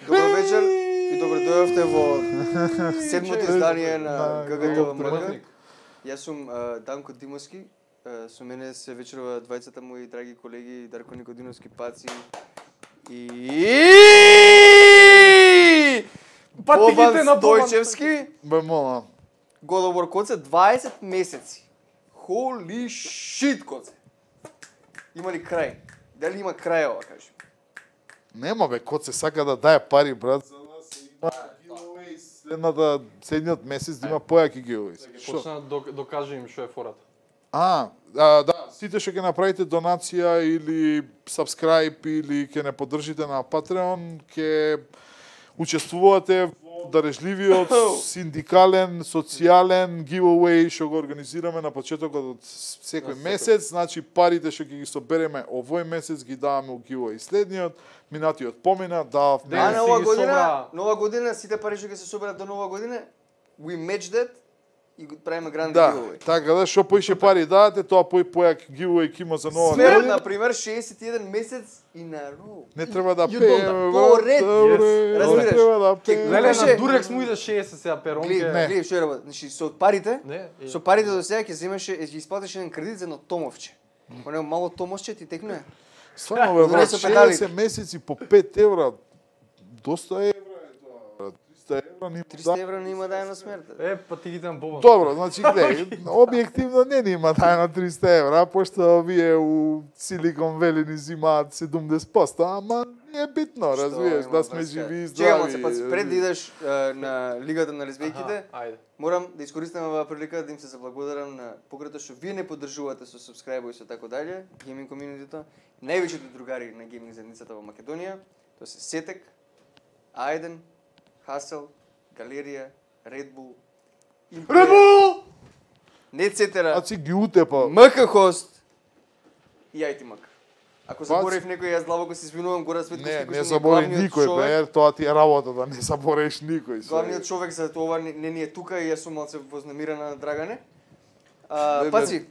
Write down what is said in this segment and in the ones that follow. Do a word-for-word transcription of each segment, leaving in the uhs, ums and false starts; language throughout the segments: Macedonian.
Добро вечер и добро дојавте во седмото издание на ГГТВ. Јас сум Данко Димовски, со мене се вечерува двајцата мои драги колеги Дарко Никодиновски, Паци и Бобан Стојчевски. Бе мола. Годовор коце дваесет месеци. Holy shit, коце. Има ли крај? Дали има крај ова, кажи? Нема бе, кот се сака да дае пари, брат, за нас има giveaways. Следната, следниот месец да има појаки giveaways. Почна да докаже им што е фората. А, а, да, сите што ќе направите донација или subscribe или ќе не поддржите на Patreon, ќе учествувате во дарежливиот синдикален, социјален giveaway што го организираме на почетокот од секој месец. Значи парите што ќе ги собереме овој месец ги даваме у giveaway следниот, минатиот помина, дававме. А нова година, нова година сите пари што ќе се соберат до нова година, we match that и го правиме гранд да, giveaway. Така да, што поише пари дадете, тоа пој појак giveaway ќе има за нова Смерот, година. на пример, шеесет и еден месец и на роу. Не треба да You пееме, don't- брат, Поред. добре, Yes. не Разбираш? треба да Ке- пееме. Леле, Беше- на Дурекс му иде шеесет сега перонке. Гледај, гледај што е работа. Значи со парите, Не, и- со парите до сега ќе земеше, ќе исплатиш еден кредит за едно томовче. Оне мало томовче ти текнува. Стварно бе, брат, Со педалите. шеесет месеци по пет евра. Доста евра е тоа, брат. триста евра не триста да. евра не има дај на смерта. Е, па ти ги дам Бобан. Добро, значи гледај, објективно не ни има тајна триста евра, пошто овие у Силикон Вели ни зимаат седумдесет проценти, ама не е битно, Што разбираш, има да сме врска? живи и Чекам здрави. се, паци, пред да идеш е, на Лигата на лесбијките, Аха, ајде. морам да искористам оваа прилика да им се заблагодарам на пократо што вие не поддржувате со subscribe и со така дале, гейминг комјунитито, највеќите другари на гейминг заедницата во Македонија, тоа се Сетек, Ајден, Хасел, Галерија, Red Bull, Red Bull! Нетцетера, А си ги утепа. МК Хост и Ајти Мак. Ако Паци. заборев некој, јас длабоко се извинувам, Гора Светковски, Не, кој не што ми е забори главниот никој, човек. бе, тоа ти е работа, да не забореш никој. се. Главниот човек за тоа не, не ни е тука и јас сум малце вознемирана на Драгане. А, Бе, бе. Паци,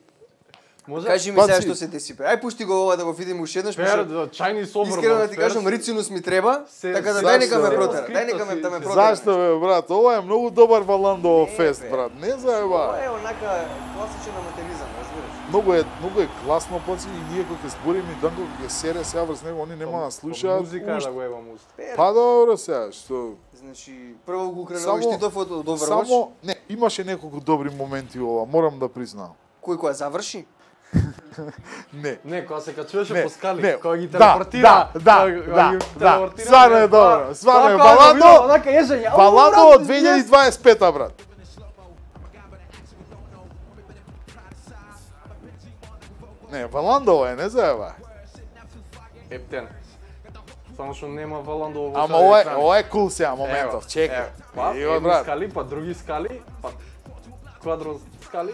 Може? кажи ми Паци. сега што се деси. бе. Ај пушти го ова да го видиме уште еднаш. Пер, пошто да, чајни собор. Искрено да брат, ти пер, кажам, рицинус ми треба, се- така да зашто, дај нека ме бе? протера. Дај нека ме да ме протера. Зашто бе, брат? Ова е многу добар Валандово Не, фест, бе. брат. Не Ова заеба. е онака класичен аматеризам, разбираш? Многу е, многу е класно, паци, и ние кога ќе збориме и Данко кога ќе сере сега врз него, они нема да слушаат. Музика е уште. да го еба муст. Пер. Па добро сега, што... Значи, прво го украл Само- штитов од од Overwatch. Само, не, имаше неколку добри моменти ова, морам да признам. Кој која заврши? Не. Не, кога се качуваше Не, по скали, не, кога ги да, телепортира. да, да, кога ги да, да. телепортира, Стварно е тоа- добро, стварно е. тоа кога го Валандо- видов, онака ежење. ау, Валандо брат, од две илјади дваесет и пета, брат. Не, Валандо е, не заеба. Ептен. Само што нема Валандо во Ама ова е, ова е кул сега моментов, Ево, чекај. ево. Па, Иво, едни брат. скали, па други скали, па квадро скали.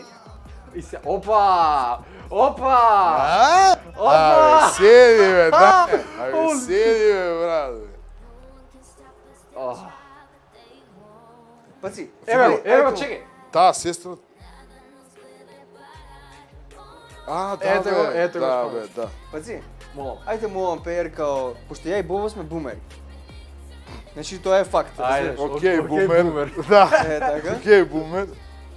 И се, опа! Опа! А? Опа! Абе, седи бе, да. Абе, Ол. седи бе, брат. Ох. Паци, Еве го, ај, еве го, ај, чекај. Таа сестра... А, да, Ете го, бе, ете го, да, спомнав. бе, да. Паци, Молам. ајде молам пеер као, пошто ја и Бово сме бумери. Значи тоа е факт, Ајде. разбираш? Океј, океј, бумер. бумер. Да. Е, така. Океј, бумер.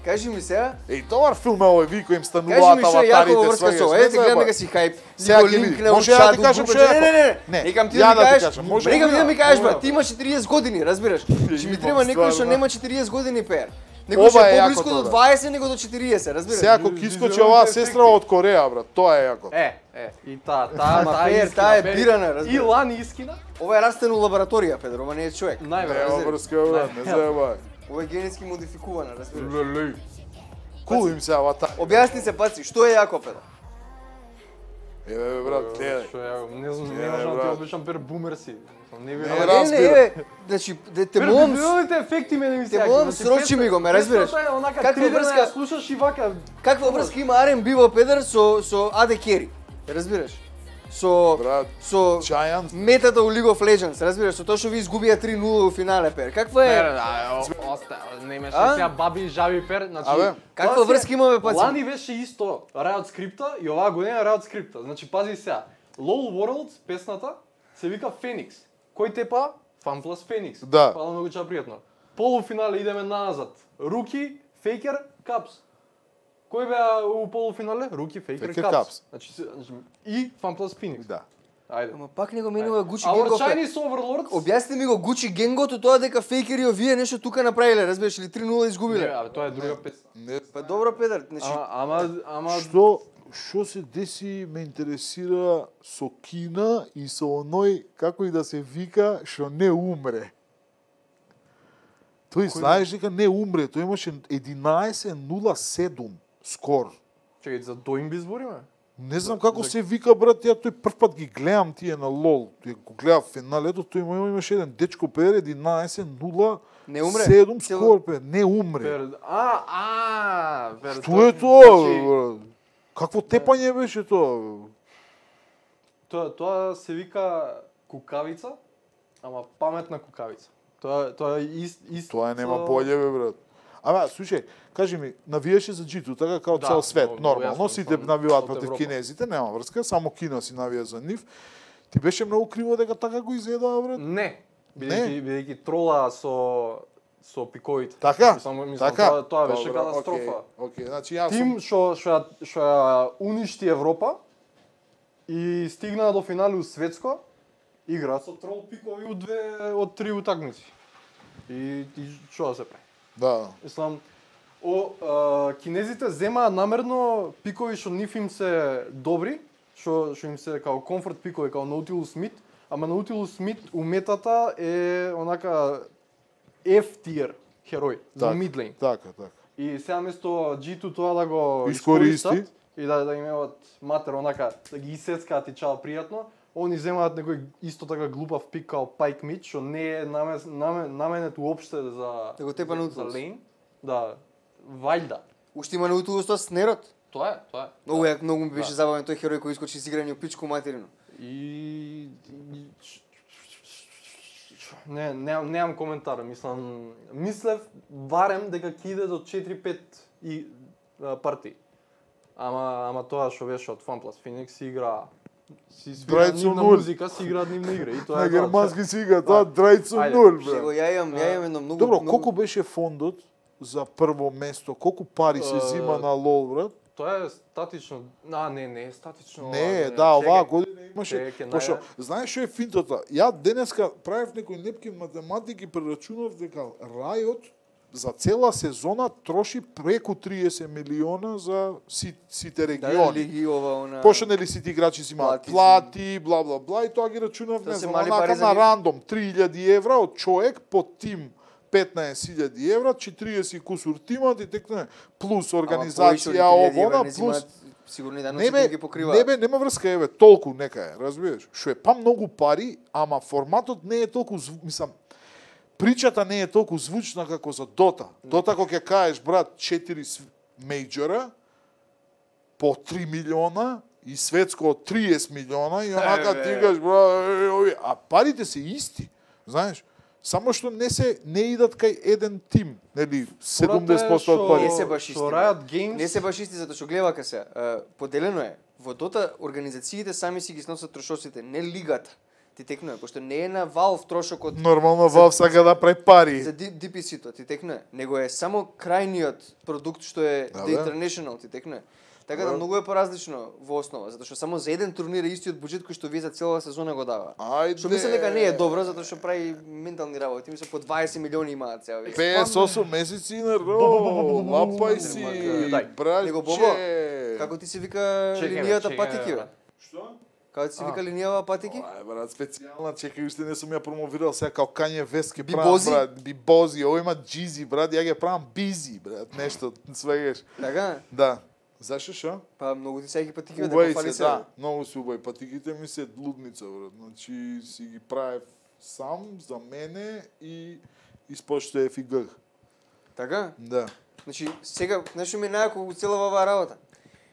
Кажи ми сега, Еј, добар филм е овој, ви кој им кажи стануваат ми што е јако во аватарите, врска со сваѓаш, ова. не Ете гледам заеба. дека си хајп. Сега Никој ќе линк ви- на може ја да ти Учаду, кажам Google. што е Не, не, не, Не, не. Викам ти ја да ми да ти кажеш, кажам, може викам ти да ја. ми кажеш, Мора. ба, ти имаш четириесет години, разбираш? Значи ми Имам треба некој што стварно. нема четириесет години пеер. Некој Ова е е јакото, поблиску до брат. дваесет него до четириесет, разбираш? Сега ако ќе искочи оваа сестра од Кореја, брат, тоа е јако. Е, е, и таа, таа, Ама, таа Пер, искина, таа е Пер. бирана, И разбираш? лани искина, Ова е растен у лабораторија, Педро, ова не е човек. Нема најверојатно. врска, брат, не заебај. Ова е генетски модификувана, разбираш? Леле. Кул им сега вата. Објасни се, паци, што е јако, Педро? Еве, бе, брат, гледај. Што ја, не знам, не Е, можам да ти брат. обичам Пер бумер си. Не Не, ви Ама разбирам. не, не, е, значи, де те Пер, молам, библиотите ефекти мене ми те сеќа. молам, срочи ми го, ме разбираш? Онака Каква три дена врска- ја слушаш и вака. каква врска има Ар енд Би во Педер со со Аде Кери? Разбираш? Со Брат, со Giants. метата у League of Legends, разбираш? Со тоа што ви изгубија три нула у финале, Пер. Каква Пер, е? а, о- оста, не имаше А? сега баби и жаби Пер, значи. Абе, каква тоа си е- врска имаме, паци? Лани беше исто Riot скрипта и оваа година Riot скрипта. Значи пази сега. LoL Worlds песната се вика Феникс. Кој тепа? Fan Plus Феникс. Да. Пала многу ча пријатно. Полуфинале идеме назад. Руки, Фейкер, Капс. Кој беа у полуфинале? Руки, Фейкер, Faker, Капс. Caps. Значи, се- значи и Fan Plus Феникс. Да. Ајде. Ама пак не го менува Гучи Our Генгов. Chinese Overlords. Објасни ми го Гучи Генгото тоа дека фейкери овие нешто тука направиле, разбираш, или три нула Не, изгубиле. абе, тоа е друга песна. Не, Па добро, Педер, значи Ама, ама, ама Што што се деси ме интересира со Кина и со оној како и да се вика што не умре. Тој знаеш дека не умре, тој имаше единаесет нула седум скор. чекај за Доимби збориме? Не знам како се вика брат, ја тој прв пат ги гледам тие на лол. Тој го гледав финалето, тој има имаше еден дечко пер единаесет нула Не умре? седум Цело- скор пе, не умре. Пер, а, а, пер, Што е тоа? значи, брат? Какво тепање беше тоа? Тоа, тоа се вика кукавица, ама паметна кукавица. Тоа, тоа е ист, ист... Тоа нема боле бе брат. Ама слушај, кажи ми, навиеше за джиту така како Да, цел свет, много- нормално, много јасно, сите мислам, навиваат од против Европа. кинезите, нема врска, само Кина си навија за нив. Ти беше многу криво дека така го изгледаа брат? Не, бидејќи бидејќи трола со со пиковите. Така? Мислам, мислам Така? тоа, тоа беше Добро, катастрофа. Океј, океј, значи јас Тим сум што што ја што ја уништи Европа и стигна до финале у светско, игра со трол пикови од две од три утакмици. И и што да се прави? да. Мислам, о, а, кинезите земаат намерно пикови што нив им се добри, што што им се као комфорт пикови, као Nautilus Mid, ама Nautilus Mid у метата е онака F tier херој за Така, мидлейн. Така, така. И сега место джи ту тоа да го Искористи. искористат и да да имаат матер онака да ги исецкаат и чао пријатно, они земаат некој исто така глупав пик као Pike Mid, што не е намес, наме, наменет уопште за Да го тепа на за Nautilus. лейн. Да, вајда. уште има Nautilus тоа с нерод. Тоа е, тоа е. Многу јак, многу ми беше Да. забавен тој херој кој искочи с играње у пичку материну. И и- не, немам немам коментар, мислам, мислев барем дека ќе иде до четири-пет и а, партии. Ама ама тоа што беше од FunPlus Phoenix си игра си свира Драјцу нивна нуль. музика, си играат нивна игра и тоа На е тоа. германски сига, тоа драјцу Ајде, нуль Што го брат. ја имам, ја имам едно многу Добро, многу- колку беше фондот за прво место? Колку пари се Е, зима на лол брат? Тоа е статично. А, не, не е статично. Не, а, да, оваа чекај. година имаше, Чекај, пошто, наја- знаеш што е финтата? Ја денеска правев некој непкин математики, прерачунав дека Riot за цела сезона троши преку триесет милиона за си, сите Да, да, региони. лиги ова она. Пошто нели сите играчи си имаат Плати си. плати, бла бла бла и тоа ги рачунав, Тоа не се знам, мали онака пари за на нив. рандом три илјади евра од човек по тим петнаесет илјади евра, четириесет кусур тимат и текне плюс организација овона, плюс сигурно и да Не ги бе, покрива. не бе, нема врска, еве, толку нека е, разбираш? Што е па многу пари, ама форматот не е толку, зву- мислам, причата не е толку звучна како за Дота. Дота кога ќе кажеш, брат, четири св- мејџора по три милиона и светско од триесет милиона и онака Е, бе. ти кажеш, брат, е, ови, а парите се исти, знаеш? Само што не се не идат кај еден тим, нели, седумдесет проценти од Што- пари. Не се баш исти, Што бе. Riot Games Не се баш исти затоа што гледа ка се. е, Поделено е. Во Дота организациите сами си ги сносат трошоците, не лигата. Ти текнува, пошто не е на Valve трошокот Нормално Valve сака да прави пари. за ди пи си-то, ти текнува. Него е само крајниот продукт што е Да, The бе. International, ти текнува. Така да многу е поразлично во основа, затоа што само за еден турнир е истиот буџет кој што вие за целава сезона го дава. Ајде. Што мислам дека не е добро затоа што прави ментални работи, мислам по дваесет милиони имаат цела век. петдесет и осум месеци на ро, лапај си, Него Бобо, братче. како ти се вика Чекај, бе, линијата чекај, патики, бе, бе? брат. Што? Како ти се вика линијава патики? Ај, брат, специјална, чекај, уште не сум ја промовирал сега као Kanye West ке Би правам, Бози? брат, би Бози, ово има Джизи, брат, ја ги правам Бизи, брат, нешто, свегаш. Така? Да. Зашо шо? Па многу ти сеќи патики да Убави пофали се, се. да, многу се убави. Патиките ми се лудница, брат. Значи, си ги правев сам, за мене и испоштоев и гъг. Така? Да. Значи, сега, нешто ми е најако во цела оваа работа.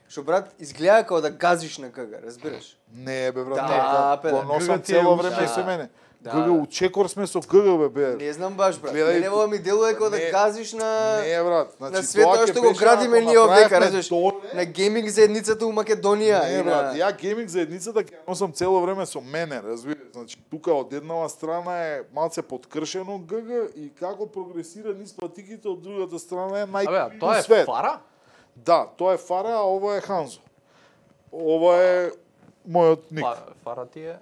Што брат, изгледа како да газиш на гага, разбираш? Не, бе, брат, Да, не, пе, го да. носам Гъгът ти е цело уште. време Да. со мене. Да. Гъга, у чекор сме со гъга, бе, бе. Не знам баш, брат. Гледај, Мене ова ми делува како да не- газиш на... Не, брат, значи, на света тоа ќе што го беше градиме ако ние овдека, направевме разбираш? доле. На гейминг заедницата у Македонија. Не, и брат, на... ја гейминг заедницата ќе ја носам цело време со мене, разбираш? Значи, тука од еднава страна е малце подкршено ГГ и како прогресира низ патиките, од другата страна е Абе, најкрив тоа е свет. фара? Да, тоа е Фара, а ова е Ханзо. Ова е мојот ник. Па, фара ти е...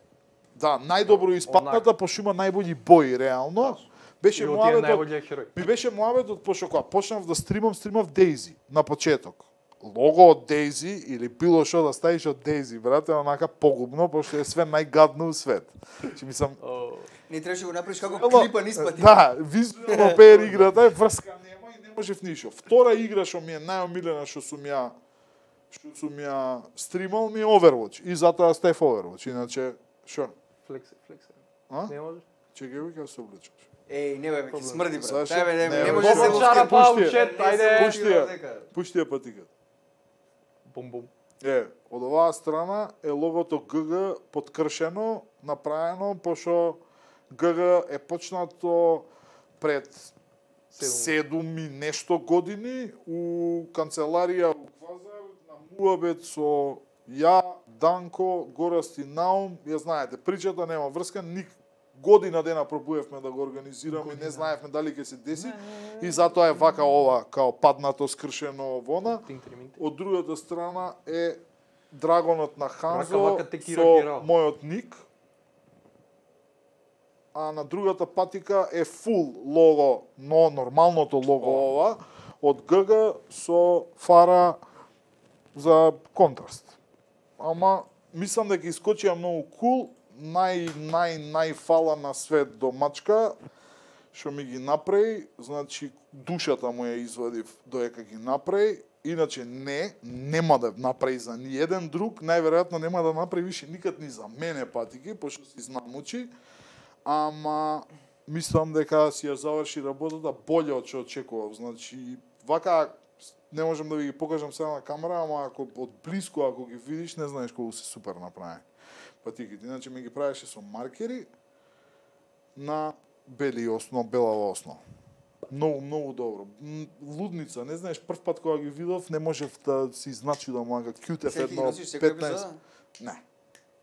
Да, најдобро испатната, пошто има најбољи бои, реално. Беше И ти е муабетот, најболјиот херој. ми беше муабетот, пошто кога почнав да стримам, стримав Дейзи на почеток. Лого од Дейзи или било што да ставиш од Дейзи, брате, онака погубно, пошто е све најгадно у свет. Чи мислам, О, Не требаше го направиш како Ама, клипа низ пати. да, визуелно пеер играта е врска нема и не можев ништо. Втора игра што ми е најомилена што сум ја што сум ја стримал ми е Overwatch и затоа стеф Overwatch, иначе што? флекс, флекс. А? Не можеш? Чекај ви како се облечеш. Еј, не бе, ќе смрди брат. Зашо? Тај бе, не, Не, не бе, може да се Бобо ловки. чарапа, пушти ја. учет, ајде. Пушти ја. Пушти ја патикат. Бум, бум. Е, од оваа страна е логото ГГ подкршено, направено, пошто ГГ е почнато пред седум и нешто години у канцеларија у Квазар на муабет со ја, Данко, Горасти Наум, ја знаете, причата нема врска, ник година дена пробуевме да го организираме, не знаевме дали ќе се деси и затоа е вака ова као паднато скршено вона. Од другата страна е драгонот на Ханзо Рака, вака, текира, со кира. мојот ник. А на другата патика е фул лого, но нормалното лого ова, од ГГ со фара за контраст. Ама мислам дека искочија многу кул, нај нај нај фала на свет до мачка што ми ги направи, значи душата му ја извадив доека ги направи, иначе не, нема да направи за ни еден друг, најверојатно нема да направи више никад ни за мене патики, пошто си знамучи, ама мислам дека си ја заврши работата боле од што очекував, значи вака не можам да ви ги покажам сега на камера, ама ако од блиску ако ги видиш, не знаеш колку се супер направени патиките. Иначе ми ги правеше со маркери на бели основ, белава основа. Многу, многу добро. М, Лудница, не знаеш, прв пат кога ги видов, не можев да си значи да мога кјутев Секи едно носиш секоја петнаесет. епизода? Не.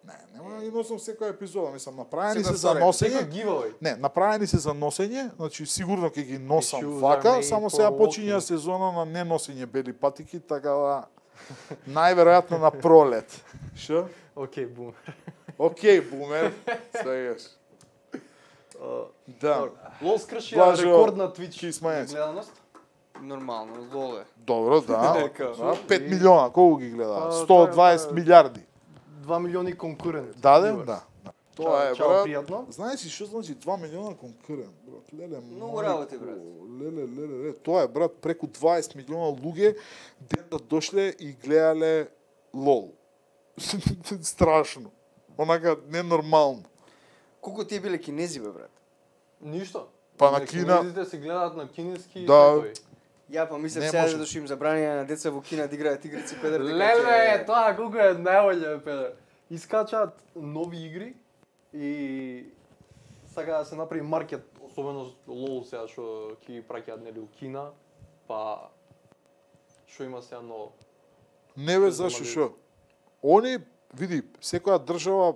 Не, нема да ги носам секоја епизода, мислам, направени Секоја се за втора носење. Секој giveaway. Не, направени се за носење, значи сигурно ќе ги носам shoes are вака, made само for сега walking. почиња сезона на неносење бели патики, така да најверојатно на пролет. Што? Океј, бум. Океј, бумер. Сегаш. Да. Лол скршија Блажо, рекорд на Twitch ки смееш. гледаност. Нормално, лоле. Добро, да. Нека. да. пет милиона, колку ги гледа? Па, сто тоа е, дваесет тоа е. милиарди. два милиони конкурент. Даде? viewers. Да. да. Тоа е, Чао, брат. пријатно. Знаеш ли што значи два милиона конкурент, брат? Леле, Многу мајко, работи, брат. Леле, леле, леле. Тоа е, брат, преку дваесет милиона луѓе ден да дошле и гледале лол. Страшно. Онака ненормално. Колку тие биле кинези бе брат? Ништо. Па на На Кина- кинезите се гледаат на кинески Да. секој. Ја па мислев Не сега може. да што им забранија на деца во Кина да играат игрици педер. дека Леле, ќе- тоа колку е најболje, педер. Искачаат нови игри и сака да се направи маркет, особено лол сега што ќе ги праќаат нели у Кина, па што има сега ново. Не бе, Се зашо замалили. шо? Они, види, секоја држава,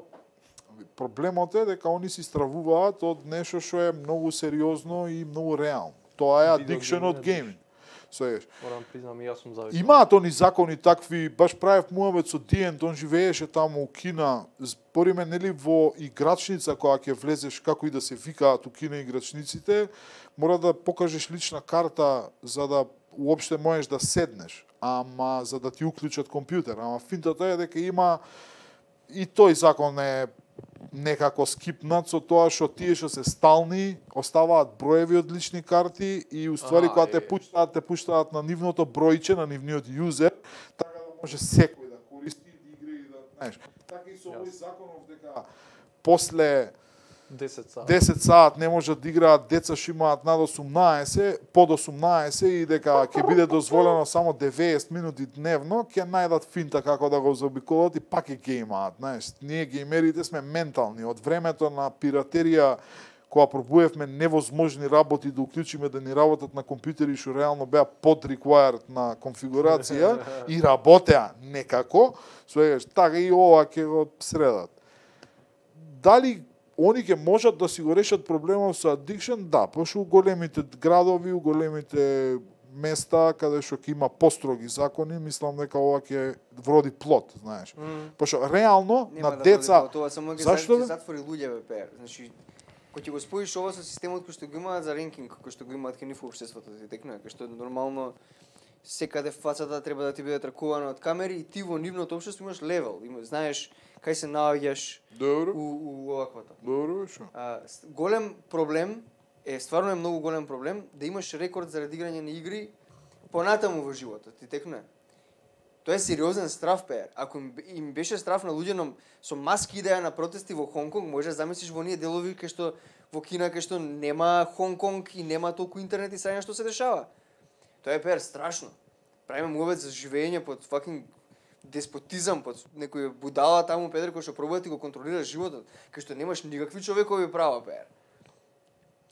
проблемот е дека они си стравуваат од нешто што е многу сериозно и многу реално. Тоа е Видео addiction од гейминг, гейминг. Свееш. Морам признам и јас сум зависен. Имаат они закони такви, баш правев муавет со Диент, он живееше таму у Кина. Спориме нели во играчница која ќе влезеш, како и да се викаат у Кина играчниците, мора да покажеш лична карта за да уопште можеш да седнеш, ама за да ти уклучат компјутер. Ама финтата е дека има и тој закон е некако скипнат со тоа што тие што се стални оставаат броеви од лични карти и уствари Аха, кога те е. пуштаат, те пуштаат на нивното бројче, на нивниот јузер, така да може секој да користи да игра и да, знаеш. Така и со овој законов дека после десет сати. десет саат не можат да играат деца што имаат над осумнаесет, под осумнаесет и дека ќе биде дозволено само деветесет минути дневно, ќе најдат финта како да го заобиколат и пак ќе геймаат, знаеш. Ние геймерите сме ментални од времето на пиратерија кога пробуевме невозможни работи да уклучиме да ни работат на компјутери што реално беа под required на конфигурација и работеа некако, свегаш, така и ова ќе го средат. Дали они ќе можат да си го решат проблемот со addiction? Да, пошто у големите градови, у големите места каде што ќе има построги закони, мислам дека ова ќе вроди плод, знаеш. Mm. Пошто реално Нема на да деца, води, тоа само ќе зашто, зашто бе? затвори луѓе бе пер. Значи кога ќе го споиш ова со системот кој што го имаат за ренкинг, кој што го имаат кај нив општеството, ти текнува, кај што нормално секаде фацата треба да ти биде тракувана од камери и ти во нивното општество имаш левел, има, знаеш кај се наоѓаш добро, у, у оваквото. добро, шо? А, с- голем проблем е, стварно е многу голем проблем да имаш рекорд заради играње на игри понатаму во животот, ти текнува. Тоа е сериозен страф, пеер. Ако им, им беше страф на луѓе на- со маски идеја на протести во Хонконг, може да замислиш во ние делови кај што во Кина кај што нема Хонконг и нема толку интернет и саѓа што се дешава. Тоа е пеер страшно. Правиме муавет за живење под fucking деспотизам, под некој будала таму педер кој што пробува да ти го контролира животот, кај што немаш никакви човекови права, пеер.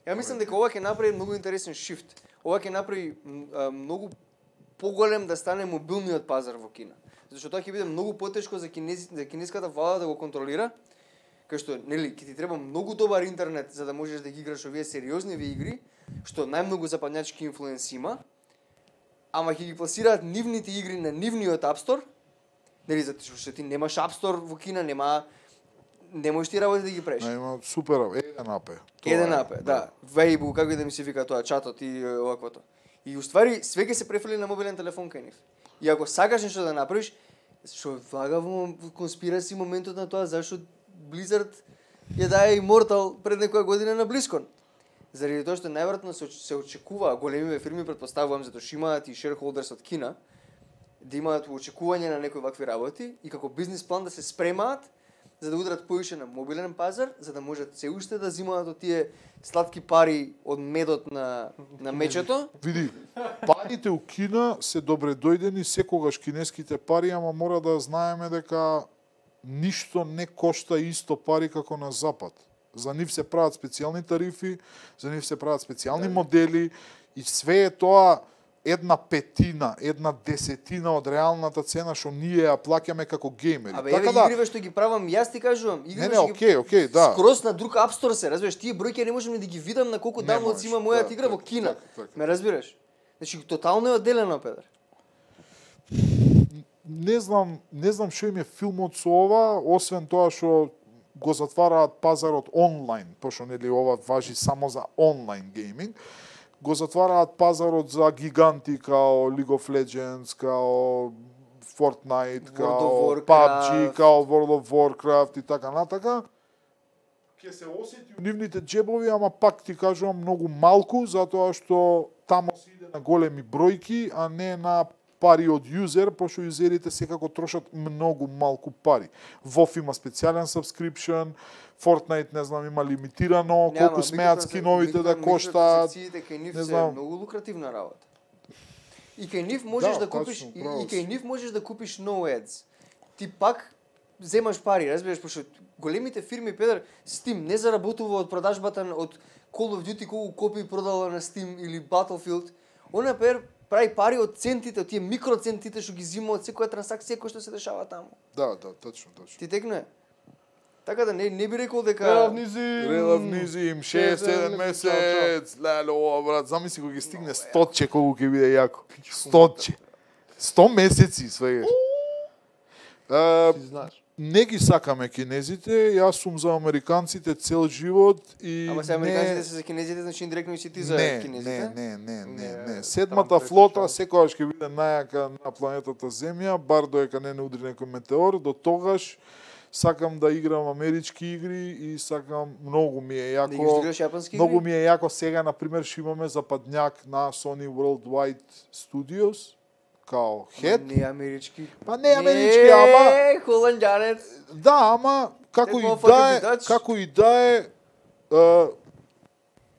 Ја мислам дека ова ќе направи многу интересен шифт. Ова ќе направи м, а, многу поголем да стане мобилниот пазар во Кина. Зашто тоа ќе биде многу потешко за кинези, за кинеската влада да го контролира, кај што нели ќе ти треба многу добар интернет за да можеш да ги играш овие сериозни игри, што најмногу западњачки инфлуенс има, ама ќе ги пласираат нивните игри на нивниот App Store. Нели затоа што ти немаш App Store во Кина, нема не можеш ти работи да ги правиш. Не, има супер, еден апе. Тоа Еден е, апе, да. Weibo, како и да ми се вика тоа, чатот и е, оваквото. И уствари све ќе се префрли на мобилен телефон кај нив. И ако сакаш нешто да направиш, што влага во конспираси моментот на тоа зашто Blizzard ја даде Immortal пред некоја година на BlizzCon. Заради тоа што најверојатно се, оч- се очекува големиве фирми, претпоставувам, затоа што имаат и shareholders од Кина, да имаат очекување на некои вакви работи и како бизнис план да се спремаат за да удрат поише на мобилен пазар, за да можат се уште да зимаат од тие сладки пари од медот на на мечето. Види, парите у Кина се добре дојдени секогаш кинеските пари, ама мора да знаеме дека ништо не кошта исто пари како на Запад. За нив се прават специјални тарифи, за нив се прават специјални модели и све е тоа една петина, една десетина од реалната цена што ние ја плаќаме како геймери. Абе, еве игриве што ги правам, јас ти кажувам, игриве Не, не, што ги окей, окей, да. скрос на друг App Store се, разбираш, тие бројки не можам ни да ги видам на колку Не downloads можеш, има мојата да, игра во така, Кина. така, така. Ме разбираш? Значи тотално е одделено, педер. Не знам, не знам што им е филмот со ова, освен тоа што го затвараат пазарот онлайн, пошто нели ова важи само за онлайн гейминг. Го затвараат пазарот за гиганти као League of Legends, као Fortnite, World као of P U B G, Warcraft. као World of Warcraft и така натака. Ќе се осети у нивните джебови, ама пак ти кажувам многу малку, затоа што тамо се иде на големи бројки, а не на пари од юзер, пошто юзерите секако трошат многу малку пари. WoW има специјален subscription, Fortnite, не знам, има лимитирано, колку смеат скиновите да коштаат. Микротранзакциите кај нив не се знам. многу лукративна работа. И кај нив можеш Да, да, купиш тачно, и, право и кај си. нив можеш да купиш no ads. Ти пак земаш пари, разбираш, пошто големите фирми педер Steam не заработува од продажбата на- од Call of Duty колку копии продала на Steam или Battlefield. Она педер прави пари од центите, од тие микроцентите што ги зима од секоја трансакција која што се дешава таму. Да, да, точно, точно. Ти текне? Така да не не би рекол дека Релавнизим. Релавнизим, шест седем месец, леле, ова, брат, замисли кога ќе стигне стотче, колку ќе биде јако. Стотче. сто месеци, свегаш. Ти знаеш. Не ги сакаме кинезите, јас сум за американците цел живот и Ама се американците се за кинезите, значи индиректно и си ти за не, кинезите? Не, не, не, не, Не, не. Седмата таму флота пресечам. секогаш ќе биде најака на планетата Земја, бар доека не не удри некој метеор, до тогаш сакам да играм амерички игри и сакам, многу ми е Да играш, јако. играш јапонски Многу игри? ми е јако сега, на пример, што имаме западњак на Sony Worldwide Studios, као хед. Не амерички. Па не амерички, ама Е, холанѓанец. да, ама како That и motherfucker да е, be Dutch. како и да е е,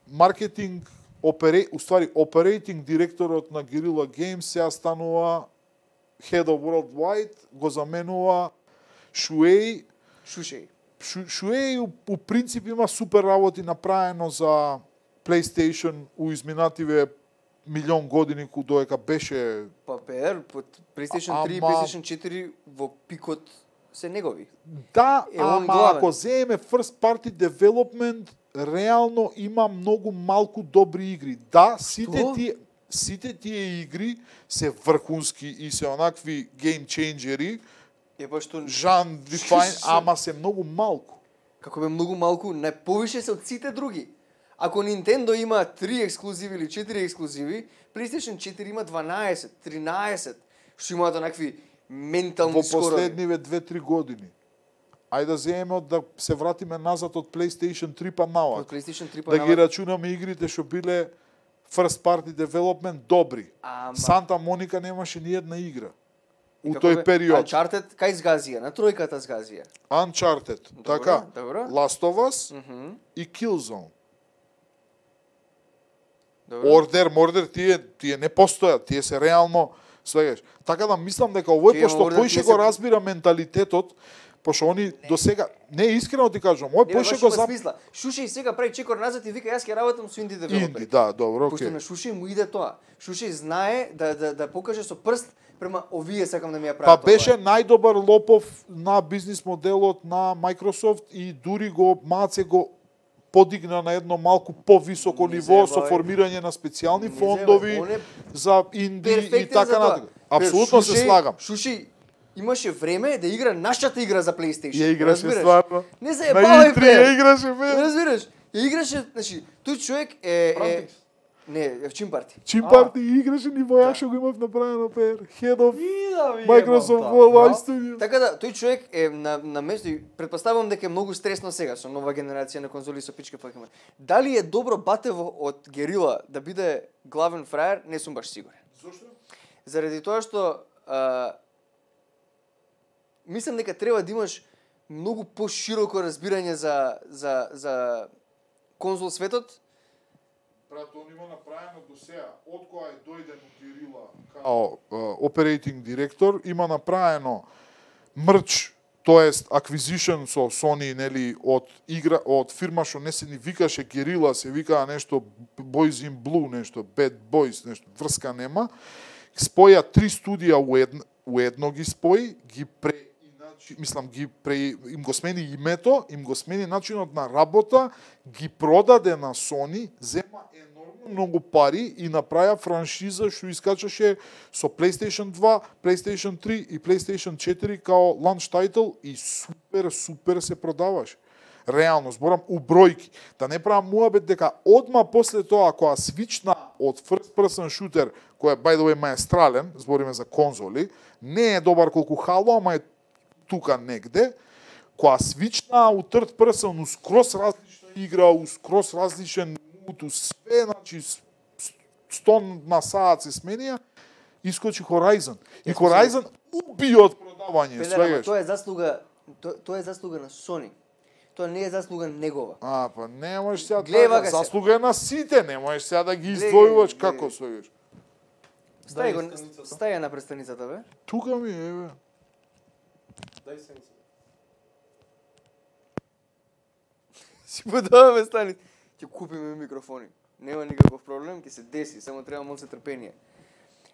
маркетинг опере, уствари operating директорот на Guerrilla Games сега станува Head of Worldwide, го заменува Шуеј. Шушеј. Шу- Шуеј у, у принцип има супер работи направено за PlayStation у изминативе милион години ку доека беше Папер, под PlayStation три и Ама- PlayStation четири во пикот се негови. да, Е, он ама главен. ако земеме first party development, реално има многу малку добри игри. Да, сите Што? тие сите тие игри се врхунски и се онакви game changeri, Е па што Жан Дефайн, Ш- ама се многу малку. како бе многу малку, најповише се од сите други. Ако Nintendo има три ексклузиви или четири ексклузиви, PlayStation четири има дванаесет, тринаесет, што имаат онакви ментални Во скорови. последниве две-три години. Ајде да земеме од да се вратиме назад од PlayStation три па Од навак. PlayStation три па Да ги навак. рачунаме игрите што биле first party development добри. Ама- Санта Моника немаше ни една игра И у како тој бе, период. Uncharted кај сгазија, на тројката сгазија. Uncharted, Добро, така, добро. Last of Us Мгм. и Killzone. Добро. Order, Murder, тие, тие не постојат, тие се реално свегаш. Така да мислам дека овој, Тие, пошто Order, поише тие го се- разбира менталитетот, пошто они до сега, не искрено ти кажам, овој Не, поише баш го има зап... смисла. Шушеј сега прави чекор назад и вика јас ќе работам со инди Инди, девелопери. да, добро, Пошто окей. на Шушеј му иде тоа. Шушеј знае да да да покаже со прст према овие сакам да ми ја Па прават. беше најдобар лопов на бизнис моделот на Microsoft и дури го маце го подигна на едно малку повисоко Не ниво со зебај. формирање на специјални Не фондови зебај, он е за инди и перфектен така за тоа. натаму. Апсолутно се Шушеј- слагам. Шушеј имаше време да игра нашата игра за PlayStation. Ја играше разбираш? стварно. Не На заебавај И три ја бе. играше бе. Разбираш? Ја играше, значи, тој човек е е Frontix. не, е в Чим парти. Чим А. парти играше ни војак што го имав направено пер. Head of И да ви Microsoft ебам, Worldwide да. Studios. Така да, тој човек е на, на место и предпоставувам дека е многу стресно сега со нова генерација на конзоли со пичка факема. Дали е добро батево од Герила да биде главен фраер, не сум баш сигурен. Зошто? Заради тоа што а, мислам дека треба да имаш многу пошироко разбирање за за за конзол светот. Брат, он има направено до сега, од кога е дојден у Герила као оперейтинг директор, има направено мрч, тоест acquisition со Sony, нели, од игра, од фирма што не се ни викаше Герила, се викаа нешто Boys in Blue, нешто Bad Boys, нешто врска нема. Споја три студија у едно, у едно ги спои, ги пре мислам ги пре, им го смени името, им го смени начинот на работа, ги продаде на Sony, зема енормно многу пари и направија франшиза што искачаше со PlayStation два, PlayStation три и PlayStation четири као launch title и супер, супер се продаваше. Реално, зборам у бројки. Да не правам муабет дека одма после тоа, кога свична од first person shooter, кој е, by the way, маестрален, збориме за конзоли, не е добар колку Halo, ама е тука негде, која свична у third person, у скрос различна игра, у скрос различен мут, у све, значи, сто на саат се сменија, искочи Horizon. И Horizon уби од продавање, Педер, ама свегаш. тоа е заслуга, тоа, тоа е заслуга на Sony. Тоа не е заслуга негова. А, па не можеш сега Гледа да га се. заслуга е на сите, не можеш сега да ги Гледа, издвојуваш гледа. како свегаш. Стај го, Дај страницата. стај ја на престаницата, бе. Тука ми е, бе. Дај се. Си подаваме стани. Ќе купиме микрофони. Нема никаков проблем, ќе се деси, само треба малку трпение.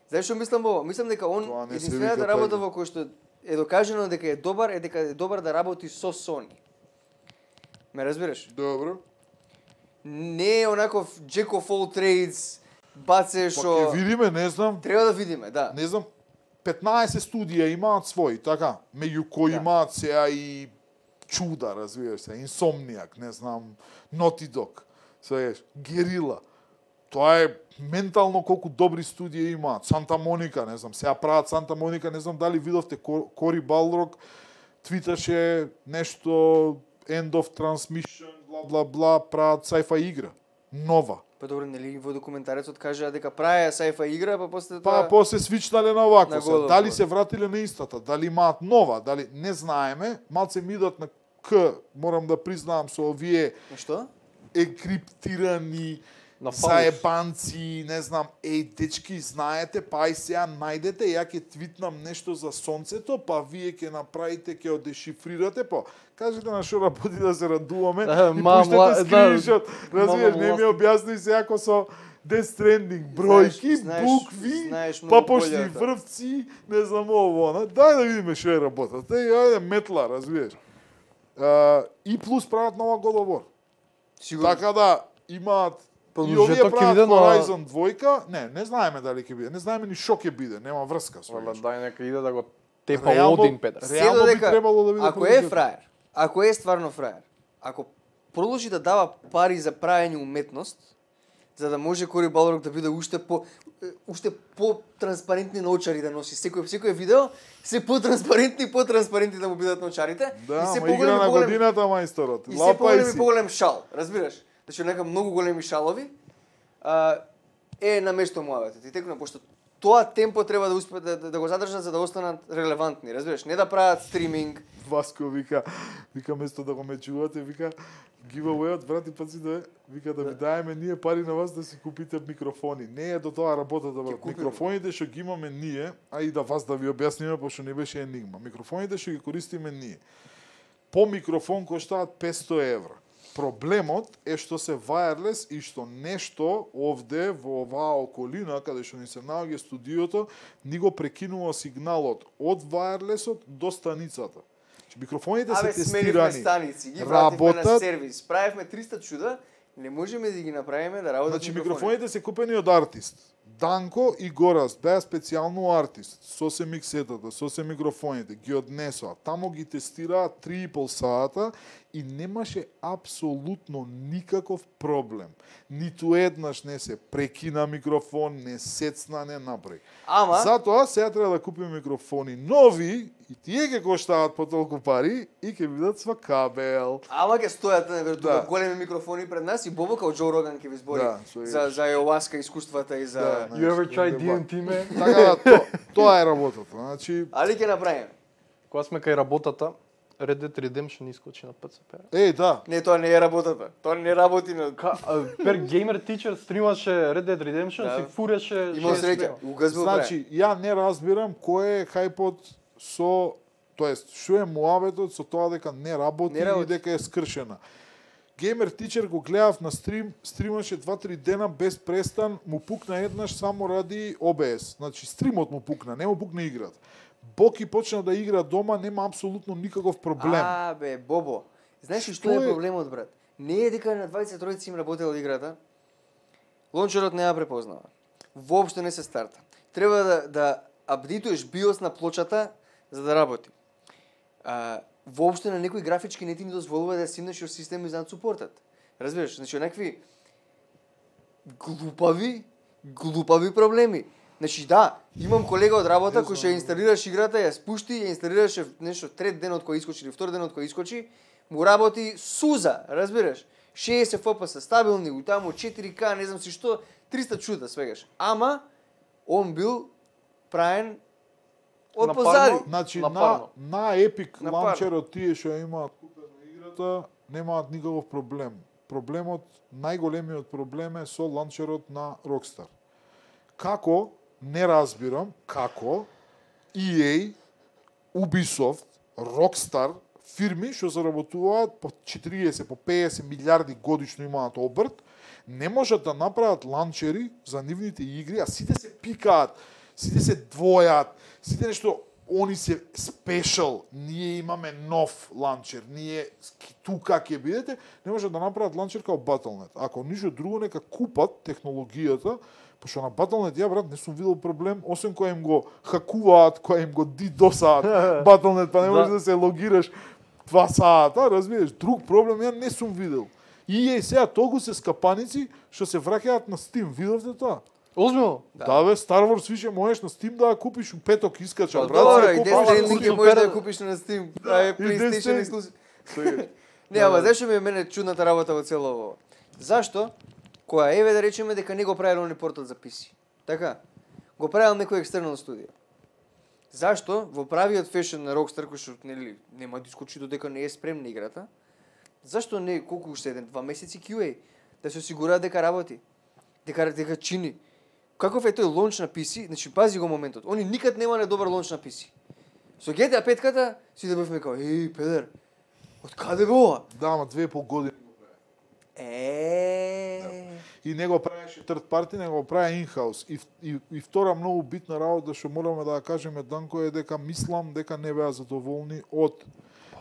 Знаеш што мислам во? Мислам дека он Тоа не се единствената вика работа паѓа. во која што е докажано дека е добар, е дека е добар да работи со Sony. Ме разбираш? Добро. Не е онаков Jack of all trades, баце Па што ќе видиме, не знам. треба да видиме, да. Не знам, петнаесет студија имаат своји, така, меѓу кои Да. имаат сеа и чуда, разбираш се, Insomniac, не знам, Naughty Dog, свееш, Guerrilla. Тоа е ментално колку добри студија имаат. Санта Моника, не знам, сега прават Санта Моника, не знам дали видовте Кори Балрог твиташе нешто End of Transmission, бла бла бла, прават sci-fi игра, нова. Па добро, нели во документарецот кажа дека праја sci-fi игра, па после Па тоа после свичнале на овакво. На Се. голо Дали поле. се вратиле на истата, дали имаат нова, дали не знаеме, малце ми идат на К, морам да признаам со овие Што? екриптирани На фалиш. заебанци, не знам, еј, дечки, знаете, па и сега најдете, ја ќе твитнам нешто за сонцето, па вие ќе направите, ќе одешифрирате, па кажете на шо работи да се радуваме Да, и ма- пуштете ма- да, скриншот. Разбираш, мама не ми власт. објасни се ако со Death Stranding, бројки, Знаеш- букви, знаеш па многу пошли боле од тоа. врвци, не знам ово, она. Дај да видиме што е работата. И ајде метла, разбираш. А, и плюс прават нова God of War. Сигурно. Така да имаат и Продолжеток овие ќе прават биде на- Horizon двојка, не, не знаеме дали ќе биде, не знаеме ни што ќе биде, нема врска со Вала, тоа. дај нека иде да го тепа Реално- Один Петар. ре- Се Реално би додека, требало да биде ако е продолжеток. фраер, ако е стварно фраер, ако продолжи да дава пари за правење уметност, за да може Кори Балрог да биде уште по е, уште по транспарентни научари да носи секој секој видео, се по транспарентни и по транспарентни да му бидат научарите Да, и се ама игра поголем на и поголем годината мајсторот. и се Лапај поголем и си. поголем шал, разбираш? Значи нека многу големи шалови а, е на место муаветот. И текно пошто тоа темпо треба да успеат да, да, да го задржат за да останат релевантни, разбираш? Не да прават стриминг. Васко вика, вика место да го ме чувате, вика giveaway-от брати паци да е, вика да ви даеме ние пари на вас да си купите микрофони. Не е до тоа работата брат. купиме. Микрофоните што ги имаме ние, а и да вас да ви објасниме пошто не беше енигма. Микрофоните што ги користиме ние. По микрофон коштаат петсто евра. Проблемот е што се wireless и што нешто овде во оваа околина каде што ни се наоѓа студиото ни го прекинува сигналот од wirelessот до станицата. Значи, микрофоните Абе, се сменивме тестирани. станици, ги вративме на работат. сервис. Правевме триста чуда, не можеме да ги направиме да работат Значи микрофоните се купени од артист. Данко и Горас беа специјално артист, со се миксетата, со се микрофоните, ги однесоа, тамо ги тестираа три и пол сата и немаше апсолутно никаков проблем. Ниту еднаш не се прекина микрофон, не сецна, не направи. Ама, Затоа сега треба да купиме микрофони нови и тие ќе коштаат по толку пари и ќе бидат со кабел. ама ќе стојат на Да. да. големи микрофони пред нас и Бобо као Джо Роган ќе ви збори Да, со за за ayahuasca искуствата и за Да. You ever try Дебат. ди ен ти, ме? Така да, то, тоа е работата. Значи, Али ќе направиме. Кога сме кај работата, Red Dead Redemption искочи на пи си пи. еј, да, Не, тоа не е работата. Тоа не работи на Ка, а, пер Gamer Teacher стримаше Red Dead Redemption, Да. си фуреше Имал шест среќа. мега. Угазбил значи, ја не разбирам кој е хајпот со, тоест, што е муабетот со тоа дека не работи, Не работи. и дека е скршена. Gamer Teacher го гледав на стрим, стримаше два-три дена без престан, му пукна еднаш само ради о би ес. Значи, стримот му пукна, не му пукна играта. Боки почна да игра дома, нема апсолутно никаков проблем. А, бе, Бобо. Знаеш ли што Што е е? проблемот, брат? Не е дека на дваесет тројци им работела играта. Лончерот не ја препознава. Воопшто не се старта. Треба да да апдейтуеш биос на плочата за да работи. А, воопшто на некои графички не ти ни дозволува да ја симнеш од системи за супортат. Разбираш? Значи, некакви глупави, глупави проблеми. Значи да, имам колега од работа кој што ја инсталираш играта, ја спушти, ја инсталираше нешто трет денот кој искочи или втор денот кој искочи, му работи суза, разбираш? шеесет еф пи ес стабилни, у таму четири ка, не знам си што, триста чуда свегаш. Ама он бил правен од Напарно? позади. Значи, На на, парно. на Epic На ланчерот тие што ја имаат купена играта, немаат никаков проблем. Проблемот, најголемиот проблем е со ланчерот на Rockstar. Како, не разбирам, како и ей, Ubisoft, Rockstar, фирми што заработуваат по четириесет, по пеесет милиарди годишно имаат обрт, не можат да направат ланчери за нивните игри, а сите се пикаат, сите се двојат, сите нешто они се спешал, ние имаме нов ланчер, ние тука ќе бидете, не може да направат ланчер као Battle.net. Ако ништо друго, нека купат технологијата, пошто на Battle.net ја брат не сум видел проблем, освен која им го хакуваат, која им го дидосаат Battle.net, па не можеш да се логираш два сата, разбираш, друг проблем ја не сум видел. И е сега толку се скапаници што се враќаат на Steam, видовте тоа? Озбилно? Да. да бе, Star Wars више можеш на Steam да ја купиш у петок искача, Па брат. добро, се и купува Death на Stranding курсо. можеш да ја купиш на Steam, да е и PlayStation Death ексклузив. Не, ама зашто ми е мене чудната работа во цело ово? Зашто? Која еве да речеме дека не го правил оној портал за пи си. Така? Го правил некој екстернал студио. Зашто во правиот фешн на Rockstar кој што нели нема да искочи додека не е спремна играта? Зашто не колку уште еден два месеци кју ей да се осигураат дека работи, дека дека чини. Каков е тој лонч на пи си? Значи пази го моментот. Они никад нема не добар лонч на пи си. Со джи ти ей пет-ката си да бевме као, еј, педер, од каде бе ова? Да, ама две и пол години го прави. Е. И не го правеше third party, не го прави in-house. И, и, и втора многу битна работа што мораме да ја кажеме Данко е дека мислам дека не беа задоволни од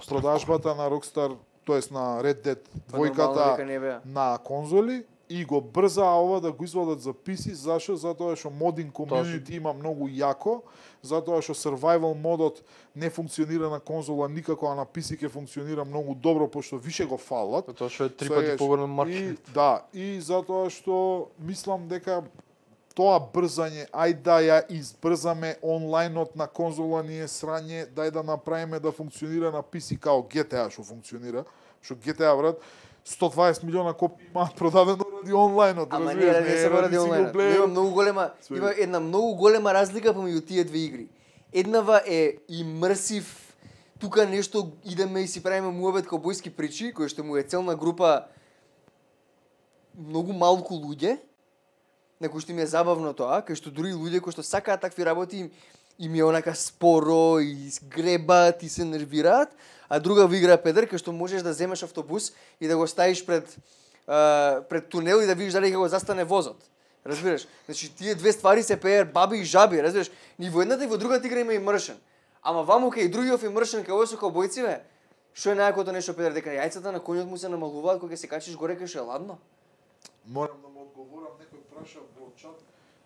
продажбата на Rockstar, тоест на Red Dead двојката на конзоли и го брзаа ова да го извадат за пи си, зашо? Затоа што модинг комјунити има многу јако, затоа што survival модот не функционира на конзола никако, а на пи си ќе функционира многу добро, пошто више го фалат. Тоа што е три пати поголем маркет. И, да, и затоа што мислам дека тоа брзање, ај да ја избрзаме онлајнот на конзола ни е срање, дај да направиме да функционира на пи си као джи ти ей што функционира, што джи ти ей брат сто дваесет милиона копии имаат продадено ради онлајнот, ама не, не се ради онлајнот. Има многу голема, има една многу голема разлика помеѓу тие две игри. Еднава е имерсив, тука нешто идеме и си правиме муабет каубојски причи, кој што му е целна група многу малку луѓе, на кои што им е забавно тоа, кај што дури луѓе кои што сакаат такви работи им, им е онака споро и гребат и се нервираат, а друга во игра педер кај што можеш да земеш автобус и да го ставиш пред а, пред тунел и да видиш дали ќе го застане возот. Разбираш? Значи тие две ствари се пеер баби и жаби, разбираш? Ни во едната и во другата игра има имершен. Ама ваму кај другиот имершен кај овој со каубојци бе. Што е најакото нешто педер дека јајцата на конјот му се намалуваат кога ќе се качиш горе кај што е ладно? Морам да му одговорам, некој праша во чат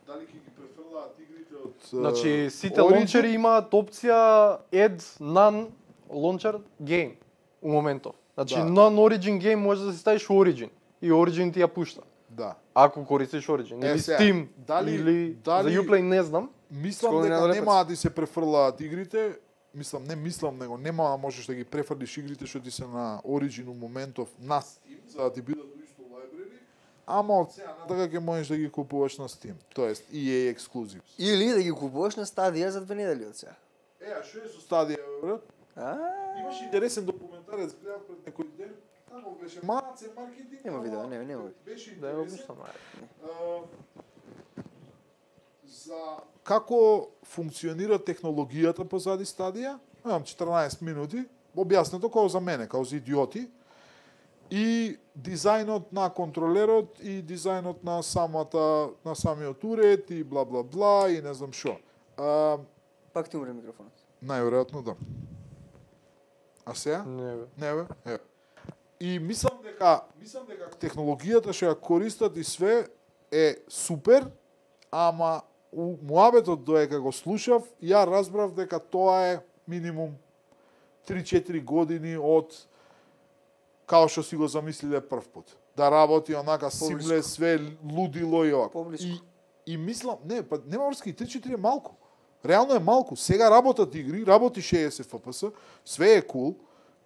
дали ќе ги префрлаат игрите од Значи сите Origin? лончери имаат опција add non launcher game у моментов. Значи Да. non origin game може да се ставиш origin и origin ти ја пушта. Да. Ако користиш origin Е, или сега, Steam дали- или дали- за Uplay не знам. Мислам Скоро дека надале нема да се префрлаат игрите, мислам, не мислам, него нема да можеш да ги префрлиш игрите што ти се на Origin у моментов на Steam, за да ти бидат у исто library, ама од сега натака ќе можеш да ги купуваш на Steam, тоест и ей exclusives. Или да ги купуваш на Stadia за две недели од сега. Е, а што е со Stadia, брат? А, Имаш интересен документарец, гледав пред некој ден, тамо беше малце маркетинг. Нема ама видео, не, нема. Беше Да ја интересен. обмислам. А, за како функционира технологијата позади Stadia, имам четрнаесет минути, објаснето како за мене, како за идиоти, и дизајнот на контролерот и дизајнот на самата на самиот уред и бла бла бла и не знам што. А, Пак ти умре микрофонот. најверојатно да. А сега? Не бе. Не бе, е. И мислам дека мислам дека технологијата што ја користат и све е супер, ама у муабетот доека го слушав, ја разбрав дека тоа е минимум три-четири години од као што си го замислиле прв пат. Да работи онака симле све лудило и ова. Поблиску. И и мислам, не, па нема врски, три-четири е малку. Реално е малку. Сега работат игри, работи шеесет еф пи ес, све е кул.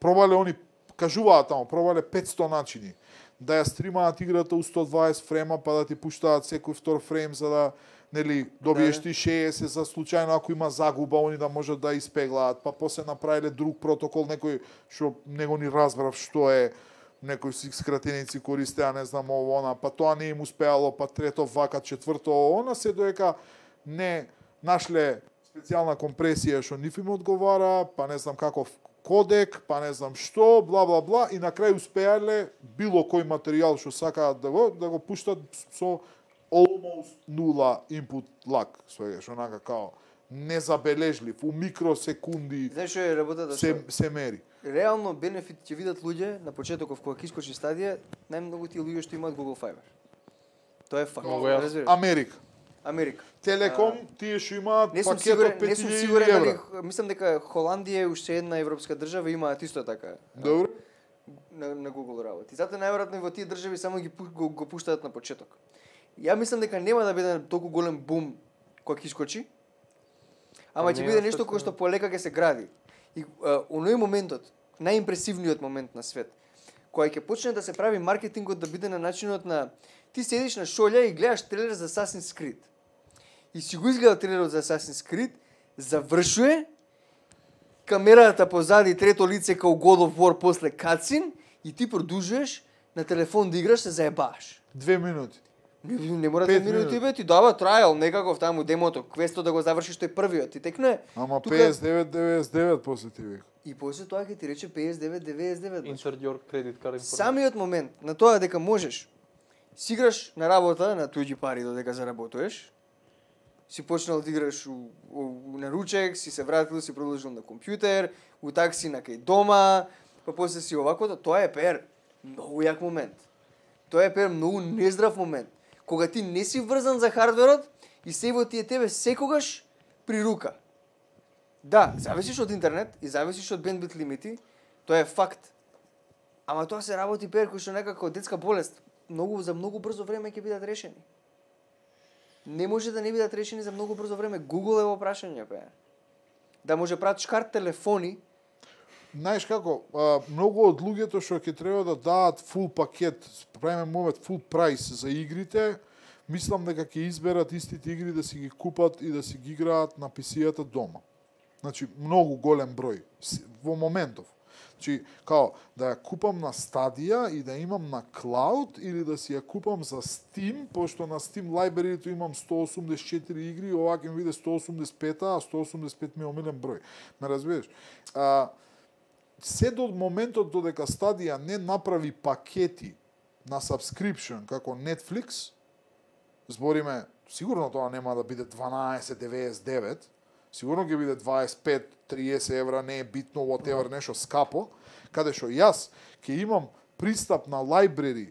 Пробале они, кажуваат тамо, пробале петсто начини да ја стримаат играта у сто дваесет фрема, па да ти пуштаат секој втор фрейм за да нели добиеш Да. ти шеесет за случајно ако има загуба, они да можат да испеглаат, па после направиле друг протокол, некој што него ни разбрав што е, некои си скратеници користеа, не знам ово она, па тоа не им успеало, па трето вака, четврто ово она, се доека не нашле специјална компресија што ниф им одговара, па не знам каков кодек, па не знам што, бла бла бла, и на крај успеале било кој материјал што сакаат да го да го пуштат со almost нула input lag, свегаш, онака као незабележлив, у микросекунди Знаеш што е работата? се Што се мери. реално бенефит ќе видат луѓе на почетоков кога ќе искочи стадија, најмногу тие луѓе што имаат Google Fiber. Тоа е факт. Многу јасно. Разбираш? Америка. Америка. Телеком, тие што имаат Не сум пакет сигурен, од не сум пет илјади сигурен дали евра. мислам дека Холандија е уште една европска држава имаат исто така. Добро. на, на Google работи. Затоа најверојатно и во тие држави само ги пу- го, го пуштаат на почеток. Ја мислам дека нема да биде толку голем бум кога ќе искочи. Ама Па ќе не, биде јас нешто така- кое што полека ќе се гради. И а, оној моментот, најимпресивниот момент на свет, кога ќе почне да се прави маркетингот да биде на начинот на ти седиш на шолја и гледаш трейлер за Assassin's Creed. И си го изгледа трейлерот за Assassin's Creed, завршува, камерата позади трето лице као God of War после катсин и ти продолжуваш на телефон да играш, се заебаш. Две минути. Не, не мора Пет да минути минути. бе, ти дава трајал некаков таму демото, квесто да го завршиш тој првиот. Ти текне. Ама тука- петдесет и девет деветдесет и девет после ти вика. И после тоа ќе ти рече петдесет и девет деветдесет и девет. Insert your credit card information. Самиот момент на тоа дека можеш си играш на работа на туѓи пари додека заработуваш, си почнал да играш у, у, на ручек, си се вратил, си продолжил на компјутер, у такси на кај дома, па после си оваквото, тоа е пер многу јак момент. Тоа е пер многу нездрав момент. Кога ти не си врзан за хардверот и сејвот ти е тебе секогаш при рука. Да, зависиш од интернет и зависиш од бендвит лимити, тоа е факт. Ама тоа се работи пер кои што некако детска болест. Многу за многу брзо време ќе бидат решени. Не може да не бидат решени за многу брзо време. Google е во прашање, пе. Да може прават карт телефони, Знаеш како, а, многу од луѓето што ќе треба да дадат фул пакет, правиме момент фул прайс за игрите, мислам дека ќе изберат истите игри да си ги купат и да си ги играат на пи си-ата дома. Значи, многу голем број С- во моментов. Значи, као, да ја купам на Stadia и да имам на Cloud или да си ја купам за Steam, пошто на Steam library-то имам сто осумдесет и четири игри, ова ќе ми биде сто осумдесет и пет, а сто осумдесет и пет ми е омилен број. Ме разбираш? А, се до моментот додека Stadia не направи пакети на subscription како Netflix, збориме, сигурно тоа нема да биде дванаесет деветдесет и девет, сигурно ќе биде дваесет и пет триесет евра, не е битно, whatever, нешто скапо, каде што јас ќе имам пристап на library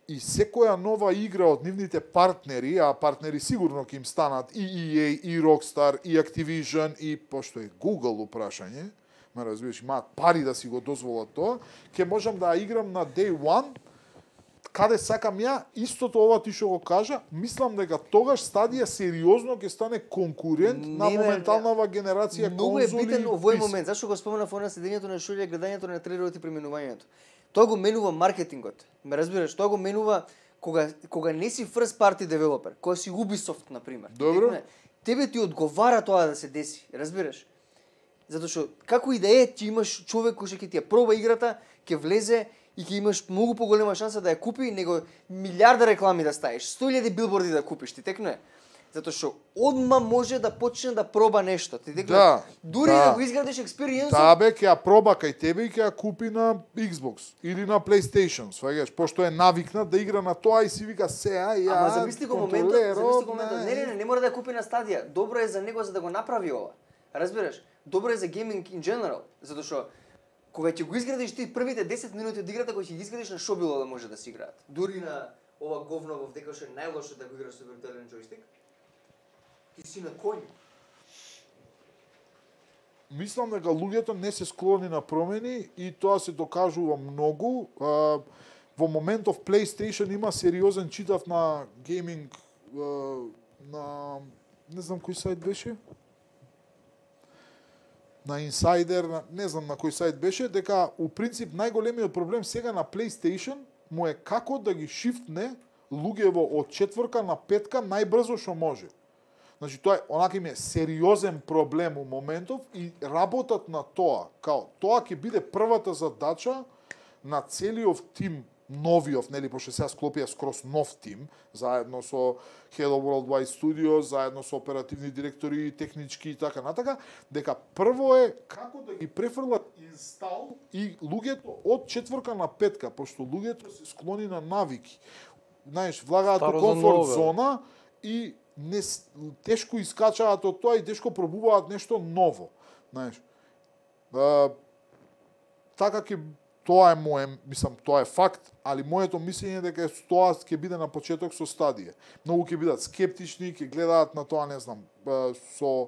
и секоја нова игра од нивните партнери, а партнери сигурно ќе им станат и и ей, и Rockstar, и Activision, и пошто е Google упрашање, ме разбираш, имаат пари да си го дозволат тоа, ќе можам да ја играм на day one, каде сакам ја, истото ова ти што го кажа, мислам дека тогаш Stadia сериозно ќе стане конкурент Не, на бе, моменталнава генерација многу е конзоли битен и овој пи си. момент. Зашто го споменав она седењето на шолја, гледањето на трейлерот и преминувањето. Тоа го менува маркетингот. Ме разбираш, тоа го менува кога кога не си first party developer, кога си Ubisoft на пример. Добро. Текне, тебе ти одговара тоа да се деси, разбираш? Затоа што како и да е, ти имаш човек кој што ќе ти ја проба играта, ќе влезе и ќе имаш многу поголема шанса да ја купи него милиарда реклами да ставиш, сто илјади билборди да купиш, ти текне. Затоа што одма може да почне да проба нешто, ти текне. Да, Дури да. да го изградиш експириенсот, Таа бе ќе ја проба кај тебе и ќе ја купи на Xbox или на PlayStation, сваѓаш, пошто е навикнат да игра на тоа и си вика сега ја ама замисли го моментот, контролерот, замисли го моментот. не. Не, не, не, не мора да ја купи на Stadia. Добро е за него за да го направи ова. Разбираш? Добро е за гейминг in general, затоа што кога ќе го изградиш ти првите десет минути од играта, кои ќе ги изградиш на шобило да може да се играат. Дури на ова говно во дека што е најлошо да го играш со виртуелен джойстик. Ти си на коњ. Мислам дека луѓето не се склони на промени и тоа се докажува многу. А, во моментов PlayStation има сериозен, читав на гейминг а, на не знам кој сајт беше. На Insider, на, не знам на кој сајт беше, дека у принцип најголемиот проблем сега на PlayStation му е како да ги шифтне луѓево од четврка на петка најбрзо што може. Значи тоа е онака им е сериозен проблем у моментов и работат на тоа, као тоа ќе биде првата задача на целиот тим новиот, нели, пошто сега склопија скроз нов тим, заедно со Hello Worldwide Studios, заедно со оперативни директори, технички и така натака, дека прво е како да ги префрлат инстал и луѓето од четврка на петка, пошто луѓето се склони на навики. Знаеш, влагаат Старо во за комфорт ново, бе. зона и не с- тешко искачаат од тоа и тешко пробуваат нешто ново, знаеш. А, така ќе тоа е моје, мислам, тоа е факт, али моето мислење е дека тоа ќе биде на почеток со стадија. Многу ќе бидат скептични, ќе гледаат на тоа, не знам, а, со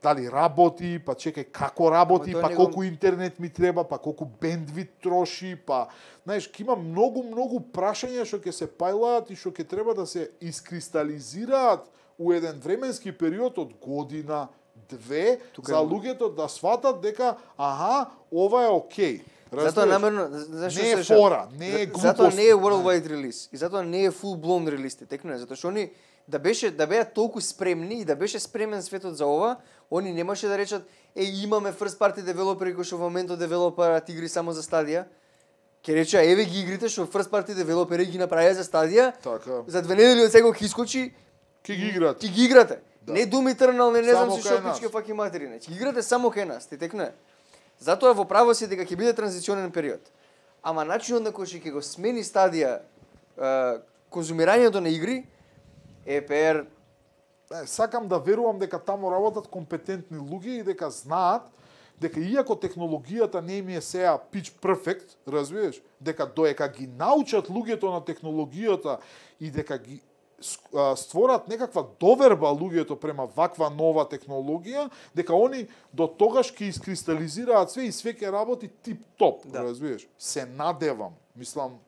дали работи, па чекај како работи, Ама тоа па него- колку интернет ми треба, па колку бендвит троши, па знаеш, ќе има многу многу прашања што ќе се пајлаат и што ќе треба да се искристализираат у еден временски период од година, две, Тука за е- луѓето да сватат дека аха, ова е окей. Затоа Разбираш? намерно, зашто Не е слушам? фора, не е За- Затоа глупост. не е worldwide релиз и затоа не е full blown релиз, текно е, затоа што они да беше да беа толку спремни и да беше спремен светот за ова, они немаше да речат е имаме first party девелопери кои што во моментот девелопираат игри само за стадија. Ке рече еве ги игрите што first party девелопери ги направија за стадија. Така. За две недели од сега ќе искочи, Ќе ги играат. ќе ги играте. Да. Не Doom Eternal, не не знам Само си кај што нас. пичке факи материна. Ќе ги играте само кај нас, ти текно е. Затоа во право си дека ќе биде транзиционен период. Ама начинот на кој ќе го смени стадија е, конзумирањето на игри е пер Е, сакам да верувам дека таму работат компетентни луѓе и дека знаат дека иако технологијата не им е сеа pitch perfect, разбираш, дека доека ги научат луѓето на технологијата и дека ги ск- а, створат некаква доверба луѓето према ваква нова технологија, дека они до тогаш ќе искристализираат све и све ќе работи тип-топ, Да. разбираш. Се надевам, мислам,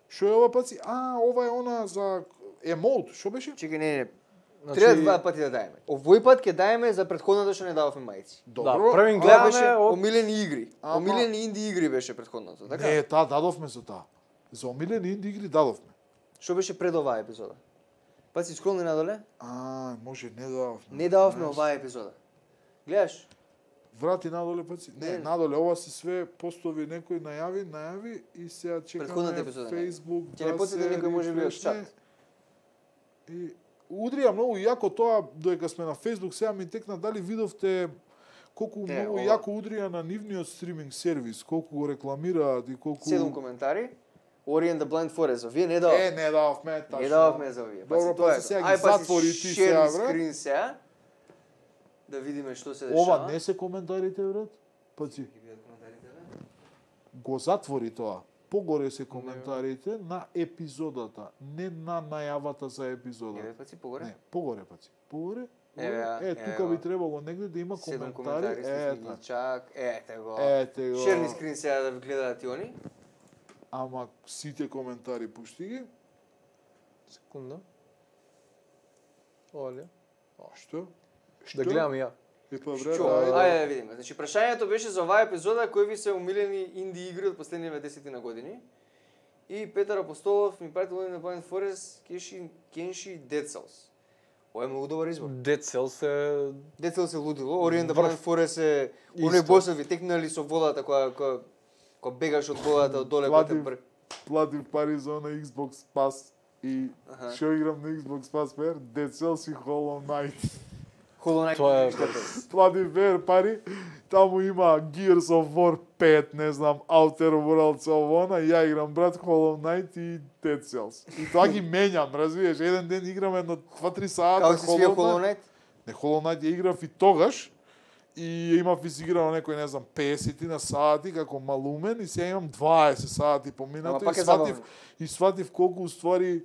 што е ова паци? А, ова е она за емоут, што беше? чекај не не. Значи- Треба два пати да даеме. Овој пат ќе даеме за претходната што не дававме мајци. Да, првин Тоа гледаме беше од омилени игри. Ама- Омилени инди игри беше претходното, така? Не, таа дадовме за таа. За омилени инди игри дадовме. Што беше пред оваа епизода? Паци скролни надоле. А, може не дадовме. Не дававме Знаеш, оваа епизода. Гледаш? Врати надоле паци. Не, Не. надоле ова си све постови некој најави, најави и сега Претходната чекаме епизода, не. Facebook Ќе не да потсети се некој може би од рефрешне. чат. И удрија многу јако тоа додека сме на Facebook, сега ми текна дали видовте колку Не, многу ова- јако удрија на нивниот стриминг сервис, колку го рекламираат и колку Седум коментари. Ori and the Blind Forest. Вие не дававте. Е, не дававме тачно. Не дававме за овие. Добро, Паци, тоа паци, е. сега ги Ај, паци, затвори ти share сега, the бре. screen сега. Да видиме што се дешава. Ова не се коментарите, брат? Паци, Ги видат коментарите, бе? го затвори тоа. Погоре се коментарите на епизодата, не на најавата за епизода. Еве паци погоре. Не, погоре, паци. Погоре. Еве, ја, Е, еве, тука ова. би требало негде да има Седум коментари. коментари, сте Ета, ги чак. Ете го. ете го. Шерни скрин сега да гледаат и они. Ама сите коментари пушти ги. секунда. Оле. Што? Да гледам и ја. Е па брат, Што? ајде. Ајде да видиме. Значи прашањето беше за оваа епизода кои ви се умилени инди игри од последниве десет на години. И Петар Апостолов ми прати Ori and the Blind Forest, Kenshi, Kenshi Dead Cells. Ова е многу добар избор. Dead Cells е Dead Cells е лудило, Ori and the Врв. Blind Forest е Исто. оној босови текнали со водата која која која бегаш од водата од доле која те Платив. бр... Платив пари за на Xbox Pass и Аха. што играм на Xbox Pass пер? Dead Cells и Hollow Knight. Hollow Knight. Тоа е- Платив пер пари, таму има Gears of War пет, не знам, Outer Worlds овона, и ја играм брат Hollow Knight и Dead Cells. И тоа ги менјам, разбираш, еден ден играм едно два-три сата Како си свија Hollow Hollow Knight. Knight? Не, Hollow Knight ја играв и тогаш, и ја имав изиграно некој, не знам, песет на сати како малумен и сега имам дваесет сати Ама поминато пак и е сватив, забавно. и сватив колку уствари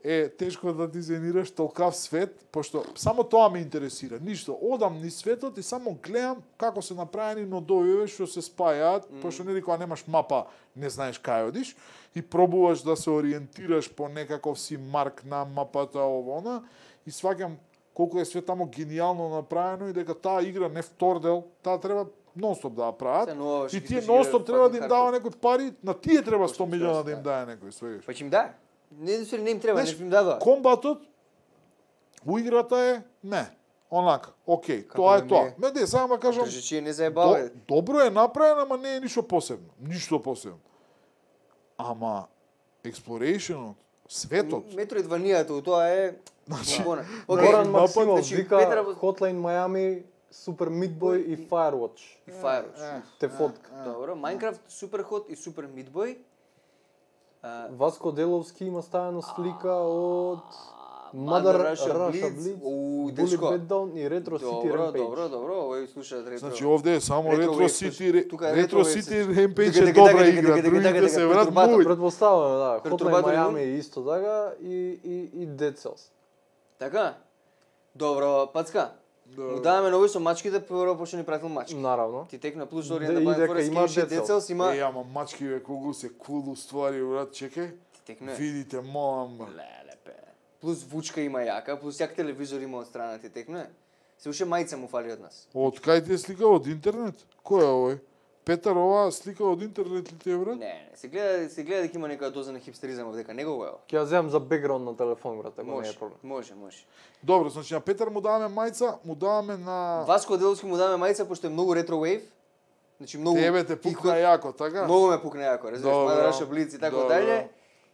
е тешко да дизајнираш толкав свет, пошто само тоа ме интересира. Ништо, одам низ светот и само гледам како се направени нодовиве што се спајаат, mm. пошто нели кога немаш мапа, не знаеш кај одиш и пробуваш да се ориентираш по некаков си марк на мапата овона и сваќам колку е све таму генијално направено и дека таа игра не втор дел, таа треба нонстоп да ја прават. Се нова, што И ги тие пиши нонстоп игра, треба да им fucking дава некој пари, на тие треба сто Пошто милиона треба да им се даде некој, свегаш. Па ќе им даде. Не да се не им треба, Знаеш, не им дадоа. Комбатот у играта е не, онака, окей, Како тоа да е тоа. не е? Ме де, само да кажам, Држачи не до, заебава. добро е направено, ама не е ништо посебно, ништо посебно. Ама explorationот, светот, Метроидванијата, тоа е Значи, Бона. Окей, Горан мапа- Максимов значи, вика Петра- Hotline Miami, Super Meat Boy и Firewatch. и Firewatch. Те фотка. Добро, Minecraft, Superhot и Super Meat Boy. А, Васко Деловски има ставено слика од Mother Russia Russia Blitz. Blitz, У, Bullet дечко. Beatdown и Retro City Добро, Rampage. добро, добро, овој слушаат ретро. Значи овде е само Retro Retro Wave, City, слушай, тука е Retro Retro Wave, City слушай. Rampage Дека, е дека, добра дека, игра, дека, дека, другите дека, се дека, врат Perturbator. муј. Претпоставуваме, да, Hotline Perturbator Miami Moon. исто така и и и Dead Cells. Така? Добро, Пацка. Му даваме нови со мачките, прво почне ни пратил мачки. Наравно. Ти текна плюс Де- Orient и Blind дека Forest, има Kenshi, Dead Cells. Dead Cells има... Е, ама мачки бе, колку се кул ствари, брат, чекај. Ти текна. Видите, молам, бе. Леле, пе. Плюс вучка има јака, плюс јак телевизор има од страна ти текна. Се уште мајца му фали од нас. Од кај ти е слика од интернет? Кој е овој? Петар, ова слика од интернет ли ти е, брат? Не, не, се гледа, се гледа дека има некоја доза на хипстеризам овдека, него го е. Ќе ја земам за бекграунд на телефон, брат, ако не Може, е проблем. може, може. Добро, значи на Петар му даваме мајца, му даваме на Васко Деловски му даваме мајца пошто е многу ретро вейв. Значи многу тебе те пукна јако, така? Многу ме пукна јако, разбираш, Добро, Mother Russia Blitz и така добро. дале.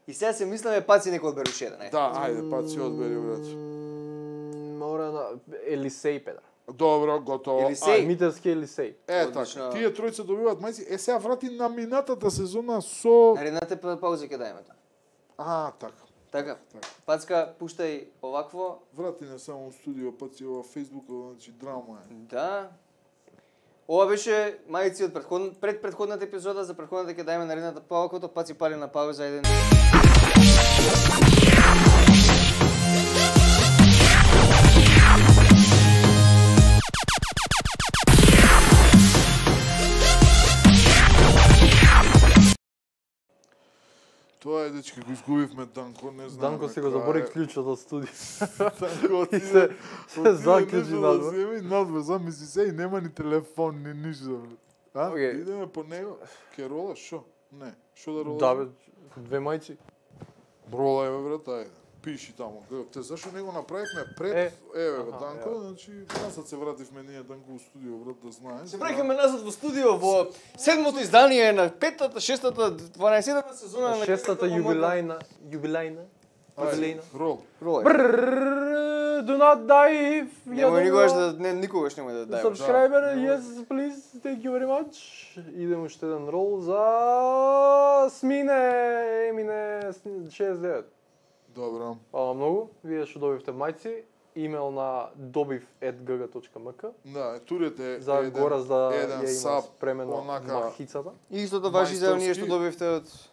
И сега се мисламе паци некој одбери уште еден, ајде. Да, ајде, па си одбери, брат. М, Мора на Елисеј, педра. Добро, готово. Елисеј. А, Митевски Елисеј. Е, Одлично. така, тие тројца добиваат мајци. Е, сега врати на минатата сезона со... Наредната па- пауза ќе дајме тоа. А, така. Така. Така. Пацка, пуштај овакво. Врати не само у студио, па си ова Фейсбук, значи драма е. Да. Ова беше мајци од претходн... пред претходната епизода, за претходната ќе дајме наредната пауза, паци пали на пауза, ајде. Тоа е, дечки, го изгубивме Данко, не знам. Данко си го забори клучот од студио. Данко И се се заклучи надвор. Земи надвор, замисли се и нема ни телефон, ни ништо. А? Окей. Идеме по него. Ке ролаш, шо? Не. Шо да ролаш? Да, бе, две мајци. Ролај, бе, брат, ајде. Пиши таму. Те зашо не го направивме пред, Е. еве го Аха, Данко, ја. значи назад се вративме ние Данко у студио, брат, да знаеш. Се враќаме назад во студио во седмото издание на петата, шестата, дванаесеттата сезона на Шестата Кривата мода. јубилајна, јубилајна, јубилејна. Рол. Ролај. Брррр, do not die. Немој никогаш да не никогаш немој да дајеш. Subscriber, Да. yes, please, thank you very much. Идемо уште еден рол за Смине, Емине шеесет девет. Добро. Фала многу, вие што добивте мајци, имейл на добив ет джи джи точка ем ка Да, турете за еден, Гораз да еден ја има саб, спремено онака- махицата. И истото важи за оние што Мајсторски. добивте од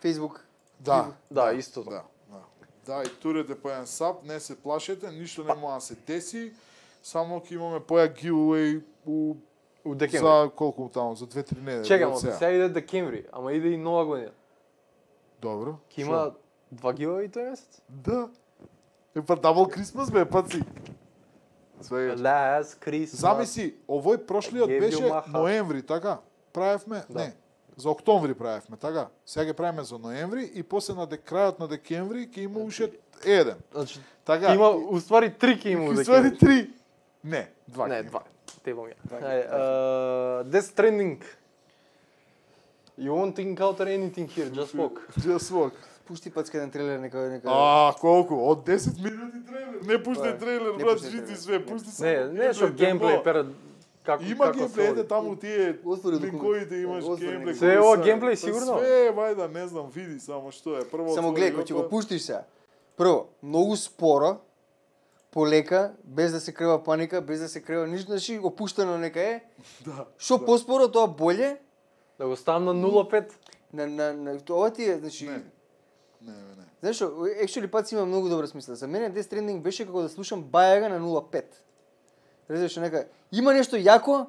Facebook. Да. Да, исто. Да, да. Да, и турете по еден саб, не се плашете, ништо не може да се деси, само ќе имаме поја giveaway у У декември. за колку таму, за две-три недели. Чекам, од сега. сега иде декември, ама иде и нова година. Добро. Ќе има два giveaway тој месец? Да. Е па дабл Крисмас бе, паци. Свега. Last Christmas. Замисли, овој прошлиот Gave you беше my heart. ноември, така? Правевме? Да. Не. За октомври правевме, така? Сега ќе правиме за ноември и после на дек, крајот на декември ќе има уште еден. Значи, Така? има, уствари три ќе има у Ќе ствари декември. три. Не, два. Не, ќе има. два. Те бом ја. Два ќе Ајде, uh, Death Stranding. You won't encounter anything here, just walk. Just walk. Пушти пацка еден трейлер нека нека. А, колку? Од десет минути трейлер. Не пушти Па, трейлер, не брат, пушти жити трейлер. све, пушти се. Не, не што геймплей пред како Има како геймплей, се ете води. таму тие Отвори документ. линковите имаш Отвори геймплей. документ. Све е кои ова се- геймплей, Па сигурно? Све, вајда, не знам, види само што е. Прво Само отвори гледај кој ќе го, го пуштиш сега. Прво, многу споро, полека, без да се крива паника, без да се крива ништо, значи опуштено нека е. Да. Што да. поспоро тоа боле. Да го ставам на нула пет. На на на ова ти е, значи Не. Не, не, не. знаеш што, actually пат има многу добра смисла. За мене Death Stranding беше како да слушам Бајага на нула пет. Разбираш нека има нешто јако,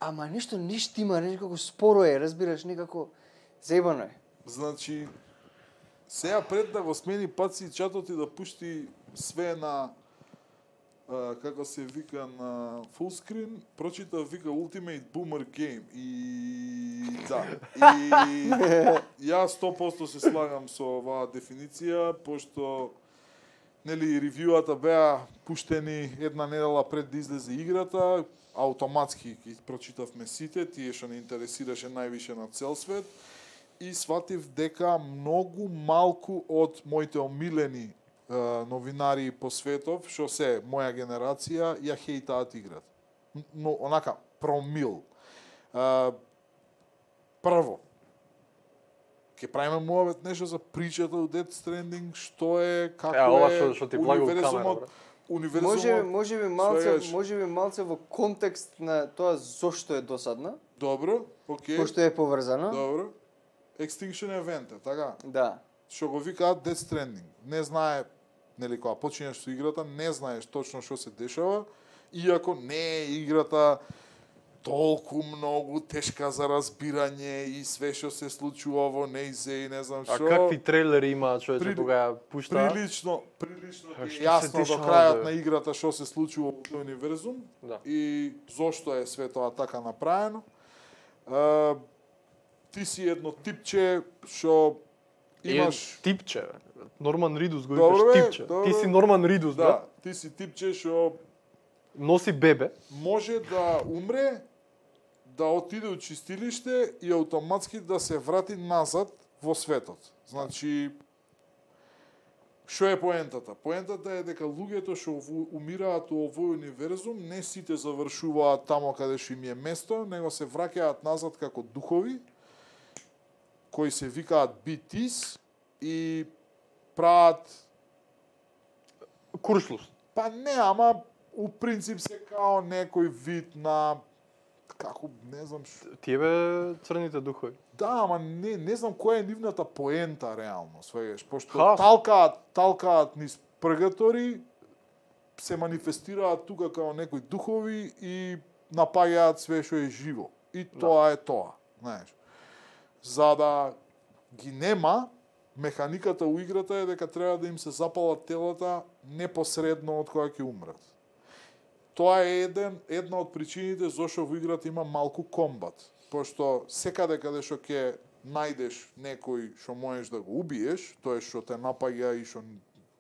ама нешто не штима, некако споро е, разбираш, некако заебано е. Значи, сега пред да го смени паци чатот и да пушти све на а, како се вика на фулскрин, прочита вика Ultimate Boomer Game и да. И ја сто проценти се слагам со оваа дефиниција, пошто нели ревјуата беа пуштени една недела пред да излезе играта, автоматски ги прочитавме сите, тие што не интересираше највише на цел свет, и сватив дека многу малку од моите омилени е, новинари по светов, што се моја генерација, ја хейтаат играта. Но онака промил. Е, прво, ќе правиме муавет нешто за причата у Death Stranding, што е, како Е, ова е, што- што ти влага у камера, универзумот, брат. универзумот. Може може би малце свегаш. може би малце во контекст на тоа зошто е досадна, Добро, окей. пошто е поврзано. Добро. Extinction Event, така. Да. Што го викаат Death Stranding. Не знае, нели кога починеш со играта, не знаеш точно што се дешава, иако не е играта толку многу тешка за разбирање и све што се случува во нејзе и не знам А што. какви трейлери има човече Прили- кога ја пушта? Прилично, прилично А е што се јасно до дешава, крајот бе? на играта што се случува во тој универзум Да. и зошто е све тоа така направено. А, ти си едно типче што имаш... Е, типче. бе. Норман Ридус го Добро, викаш бе, типче. добро. Ти си Норман Ридус, Да, брат. ти си типче што Носи бебе. може да умре, да отиде у чистилиште и автоматски да се врати назад во светот. Значи, што е поентата? Поентата е дека луѓето што ову- умираат у овој универзум, не сите завршуваат тамо каде што им е место, него се враќаат назад како духови, кои се викаат би тис и прават. Куршлус. Па не, ама у принцип се као некој вид на како не знам што. Тие бе црните духови. Да, ама не не знам која е нивната поента реално, свегаш, пошто Ха. талкаат, талкаат низ пргатори, се манифестираат тука као некои духови и напаѓаат све што е живо. И тоа е тоа, знаеш. За да ги нема, механиката у играта е дека треба да им се запалат телата непосредно од кога ќе умрат. Тоа е еден, една од причините зашто во играта има малку комбат. Пошто секаде каде што ќе најдеш некој што можеш да го убиеш, тоа што те напаѓа и што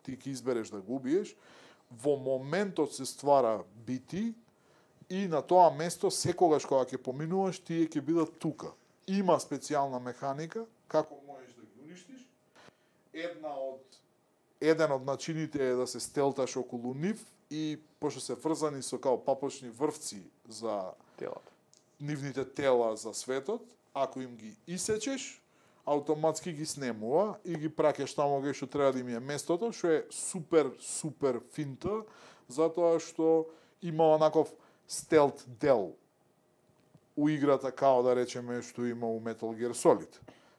ти ќе избереш да го убиеш, во моментот се ствара бити и на тоа место секогаш кога ќе поминуваш, тие ќе бидат тука. Има специјална механика како можеш да ги уништиш. Една од еден од начините е да се стелташ околу нив и пошто се врзани со као папочни врвци за Телата. нивните тела за светот, ако им ги исечеш, автоматски ги снемува и ги праќаш таму кај што треба да им е местото, што е супер, супер финта, затоа што има онаков стелт дел у играта, као да речеме што има у Metal Gear Solid.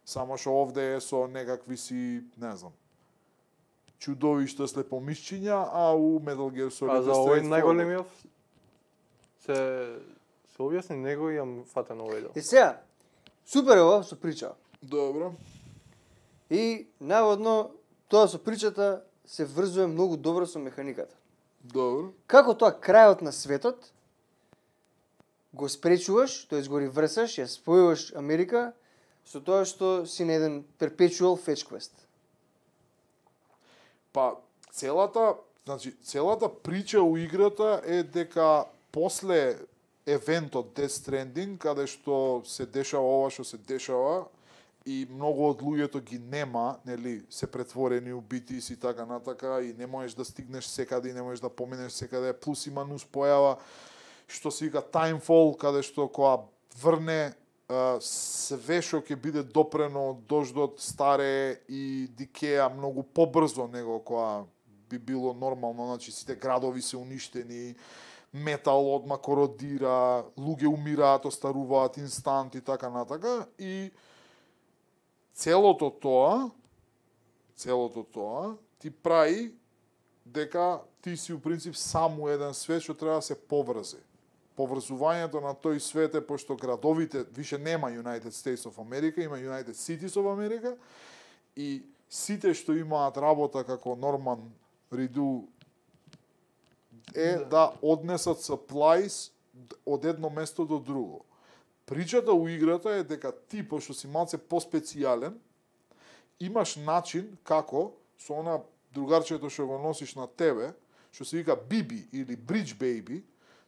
Само што овде е со некакви си, не знам, чудовишта слепомисчиња, а у Metal Gear Solid А е за овој straightforward. најголемиот се се објасни, него имам фатен овој дел. И сега, супер е ова со прича. Добро. И наводно тоа со причата се врзува многу добро со механиката. Добро. Како тоа крајот на светот го спречуваш, тоест го реврсаш, ја спојуваш Америка со тоа што си на еден perpetual fetch quest. Па целата, значи целата прича у играта е дека после евентот Death Stranding, каде што се дешава ова што се дешава и многу од луѓето ги нема, нели, се претворени у битис и така натака и не можеш да стигнеш секаде и не можеш да поминеш секаде, плюс има нус појава што се вика Timefall, каде што кога врне а, све што ќе биде допрено од дождот старе и дикеа многу побрзо него кога би било нормално, значи сите градови се уништени, метал одма кородира, луѓе умираат, остаруваат инстант и така натака и целото тоа, целото тоа ти прави дека ти си у принцип само еден свет што треба да се поврзе. Поврзувањето на тој свет е пошто градовите више нема United States of America, има United Cities of America и сите што имаат работа како Норман Риду е да, да однесат supplies од едно место до друго. Причата у играта е дека ти, пошто си малце поспецијален, имаш начин како со она другарчето што го носиш на тебе, што се вика Биби или Bridge Baby,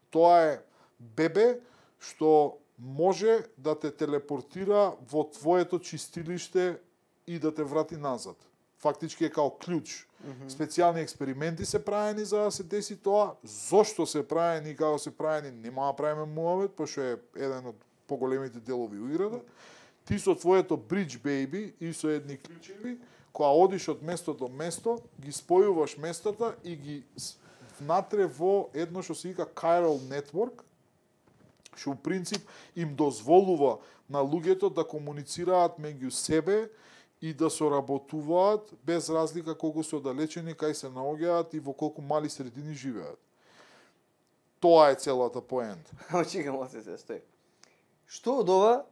тоа е бебе што може да те телепортира во твоето чистилиште и да те врати назад. Фактички е као клjuč. Mm -hmm. Специјални експерименти се правени за да се деси тоа. Зошто се правени и како се правени, нема да правиме муавет, пошто е еден од поголемите делови у играта. Ти со твоето Bridge Baby и со едни клучеви, кога одиш од место до место, ги спојуваш местата и ги внатре во едно што се вика Chiral Network, што у принцип им дозволува на луѓето да комуницираат меѓу себе и да соработуваат без разлика колку се оддалечени, кај се наоѓаат и во колку мали средини живеат. Тоа е целата поента. Ама чекам, оце се стои. Што од ова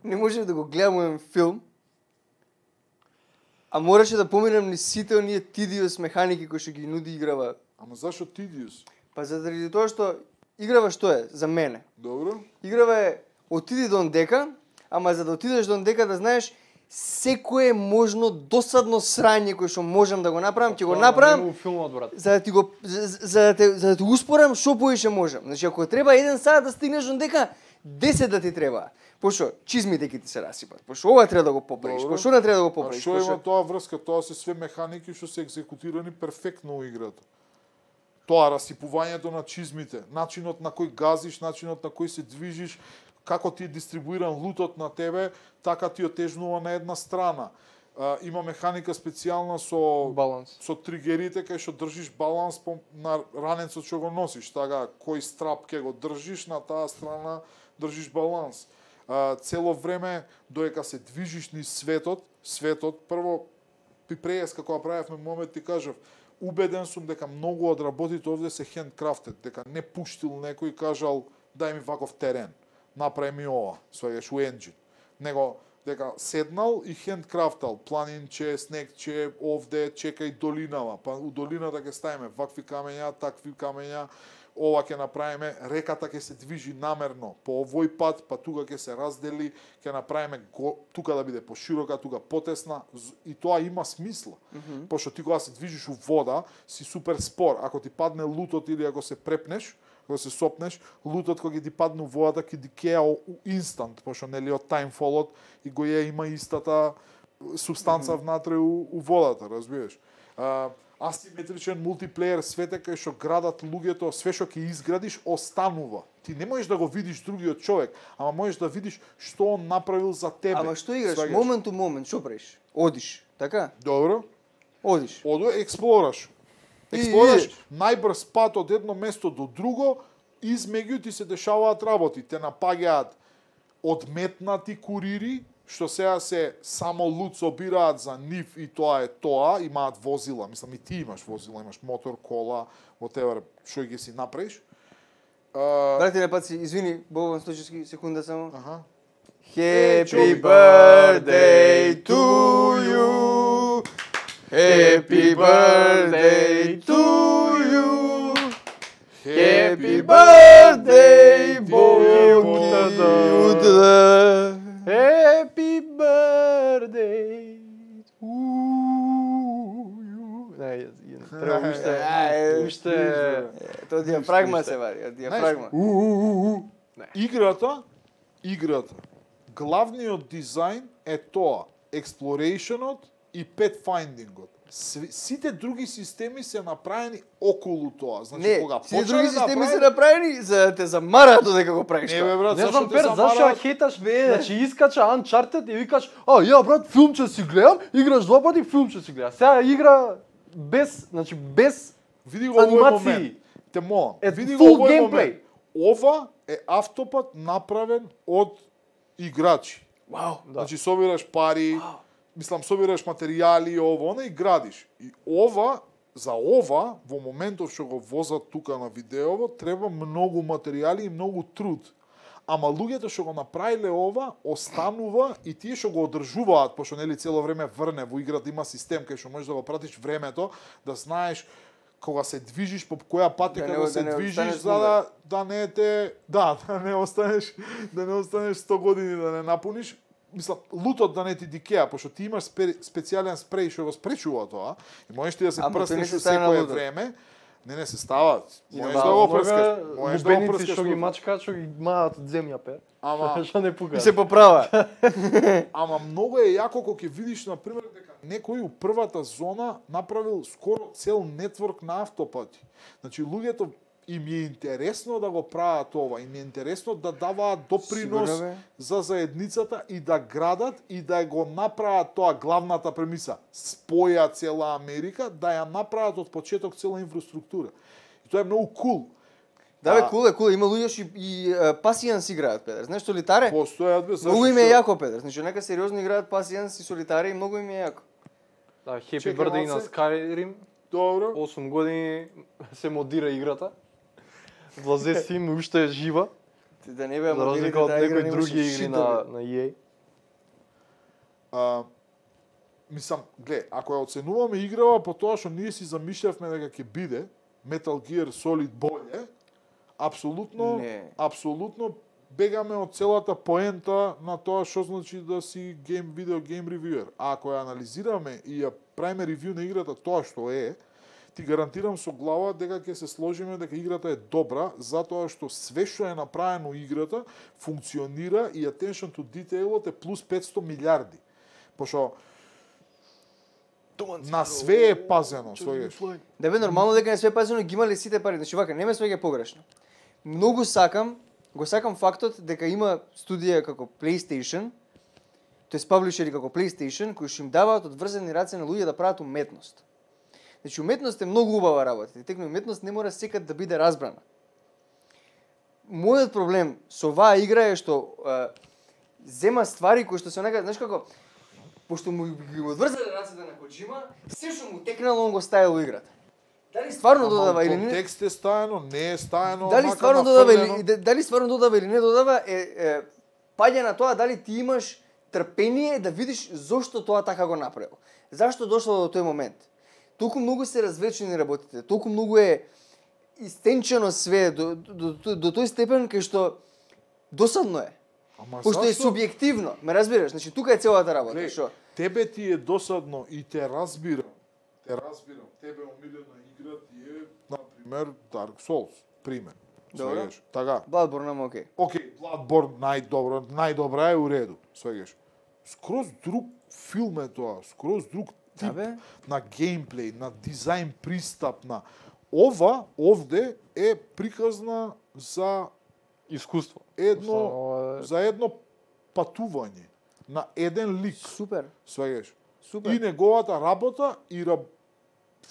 не можев да го гледам еден филм, а мораше да поминам ни сите оние тидиус механики кои што ги нуди играва. Ама зашо тидиус? Па заради тоа што играва што е за мене. Добро. Играва е отиди до дека, ама за да отидеш до дека да знаеш секое можно досадно срање кое што можам да го направам, ќе го направам. Филмот, брат. За да ти го за, за да те за да те успорам што поише можам. Значи ако треба еден сат да стигнеш до дека, десет да ти треба. Пошто чизмите ќе ти се расипат. Пошто ова треба да го поправиш. Пошто не треба да го поправиш. А што има тоа врска? Тоа се све механики што се екзекутирани перфектно во играта. Тоа расипувањето на чизмите, начинот на кој газиш, начинот на кој се движиш, како ти е дистрибуиран лутот на тебе, така ти отежнува на една страна. А, има механика специјална со баланс. Со тригерите кај што држиш баланс по, на ранецот што го носиш, така кој страп ќе го држиш на таа страна, држиш баланс. А, цело време доека се движиш низ светот, светот прво при преска кога правевме момент ти кажав, убеден сум дека многу од работите овде се хендкрафтед, дека не пуштил некој и кажал дај ми ваков терен, направи ми ова, сваѓаш у енџин. Него дека седнал и хендкрафтал, планинче, снегче, овде чекај долинава, па у долината ќе ставиме вакви камења, такви камења, ова ќе направиме, реката ќе се движи намерно по овој пат, па тука ќе се раздели, ќе направиме го, тука да биде поширока, тука потесна, и тоа има смисла. Mm -hmm. Пошто ти кога се движиш у вода, си супер спор. Ако ти падне лутот или ако се препнеш, кога се сопнеш, лутот кога ти падне у водата ќе ти кеа инстант, пошто нели од таймфолот и го е има истата субстанца mm -hmm. внатре у, у водата, разбираш. А, асиметричен мултиплеер свете кај што градат луѓето, све што ќе изградиш останува. Ти не можеш да го видиш другиот човек, ама можеш да видиш што он направил за тебе. Ама што играш? Момент у момент, што правиш? Одиш, така? Добро. Одиш. Оду експлораш. Експлораш најбрз пат од едно место до друго, измеѓу ти се дешаваат работи. Те напаѓаат одметнати курири, што сега се само лут собираат за нив и тоа е тоа, имаат возила, мислам и ти имаш возила, имаш мотор, кола, whatever, што ќе си направиш. Uh... Брати на пат си, извини, Богдан Сточевски, секунда само. Аха. Happy birthday to you. Happy birthday to you. Happy birthday, Боги Утада. Happy birthday to you. Не, треба уште, уште... Тоа диафрагма се вари, диафрагма. Играта, играта, главниот дизајн е тоа, explorationот и pathfindingот. Сите други системи се направени околу тоа. Значи не, кога сите други системи направи... се направени за да те замараат додека го правиш. Не бе брат, не зашто знам те пер, зашто замараат? хеташ, значи искача Uncharted и викаш, а ја брат, филмче си гледам, играш два пати, филмче си гледам. Сега игра без, значи без види го овој момент. Те молам, види го овој момент. Ова е автопат направен од играчи. Вау, да. Значи собираш пари, wow. Мислам, собираш материјали, ово, она и градиш. И ова, за ова, во моментов што го возат тука на видеово, треба многу материјали и многу труд. Ама луѓето што го направиле ова, останува и тие што го одржуваат, пошто нели цело време врне во играта, има систем кај што можеш да го пратиш времето, да знаеш кога се движиш по која патека да, да се да движиш за да да не те да, да не останеш да не останеш сто години да не напуниш. Мислам, лутот да не ти дикеа, пошто ти имаш специјален спреј што го спречува тоа, и можеш ти да се прснеш во секое време. Не, не се стават. Можеш да го прскаш. Можеш да го прскаш. Што ги мачкаат, што ги маат од земја пер. Ама што не пука. И се поправа. Ама многу е јако кога ќе видиш на пример дека некој у првата зона направил скоро цел нетворк на автопати. Значи луѓето им е интересно да го прават ова, им е интересно да даваат допринос Сигурно, бе. за заедницата и да градат и да го направат тоа главната премиса. Споја цела Америка, да ја направат од почеток цела инфраструктура. И тоа е многу кул. Да, бе, кул е, кул е. Има луѓе што и, и пасијанс играат, Педер. Знаеш, солитаре? Постојат бе, Многу им е јако, Педер. Значи, нека сериозно играат пасијанс и солитаре и многу им е јако. Да, Happy Чекай, Birthday на малце. Skyrim. Добро. осум години се модира играта. Влазе сим уште е жива, Ти да не беа за разлика од некои други игри на на и ей. А, мислам, глед, ако ја оценуваме играва по тоа што ние си замишљавме дека ќе биде Metal Gear Solid боле, апсолутно, Не. апсолутно бегаме од целата поента на тоа што значи да си гейм видео гейм ревюер. А ако ја анализираме и ја правиме ревју на играта тоа што е, ти гарантирам со глава дека ќе се сложиме дека играта е добра, затоа што све што е направено играта функционира и attention to detailот е плюс петсто милиарди. Пошто на све е пазено, свеѓаш. Да бе, нормално дека не све пазено ги имале сите пари. Значи, вака, не ме свеѓа погрешно. Многу сакам, го сакам фактот дека има студија како PlayStation, тоест паблишери како PlayStation, кои што им даваат одврзани раце на луѓе да прават уметност. Значи, уметност е многу убава работа. И текно уметност не мора секад да биде разбрана. Мојот проблем со оваа игра е што е, зема ствари кои што се онака, знаеш како, пошто му ги одврзале рацете на Коджима, се што му текнало он го ставил во играта. Дали стварно додава или не? Контекст е стаено, не е стаено, Дали мака стварно додава нафрлено. или дали стварно додава или не додава е, е паѓа на тоа дали ти имаш трпение да видиш зошто тоа така го направил. Зашто дошло до тој момент? Толку многу се развлечени работите, толку многу е истенчено све до, до, до, до тој степен кај што досадно е. Ама Пошто е зашто? субјективно, ме разбираш? Значи тука е целата работа, Глеј, што? тебе ти е досадно и те разбирам. Те разбирам. Тебе омилена игра ти е, например, Dark Souls, пример. Добро. Свегаш. Така. Bloodborne ама окей. Океј, Bloodborne најдобро, најдобра е у реду, свегаш. Скроз друг филм е тоа, скроз друг тип Да, бе. на геймплей, на дизајн пристап, на ова овде е приказна за Искуство. едно Останало е- за едно патување на еден лик, Супер. свегаш. Супер. И неговата работа и раб...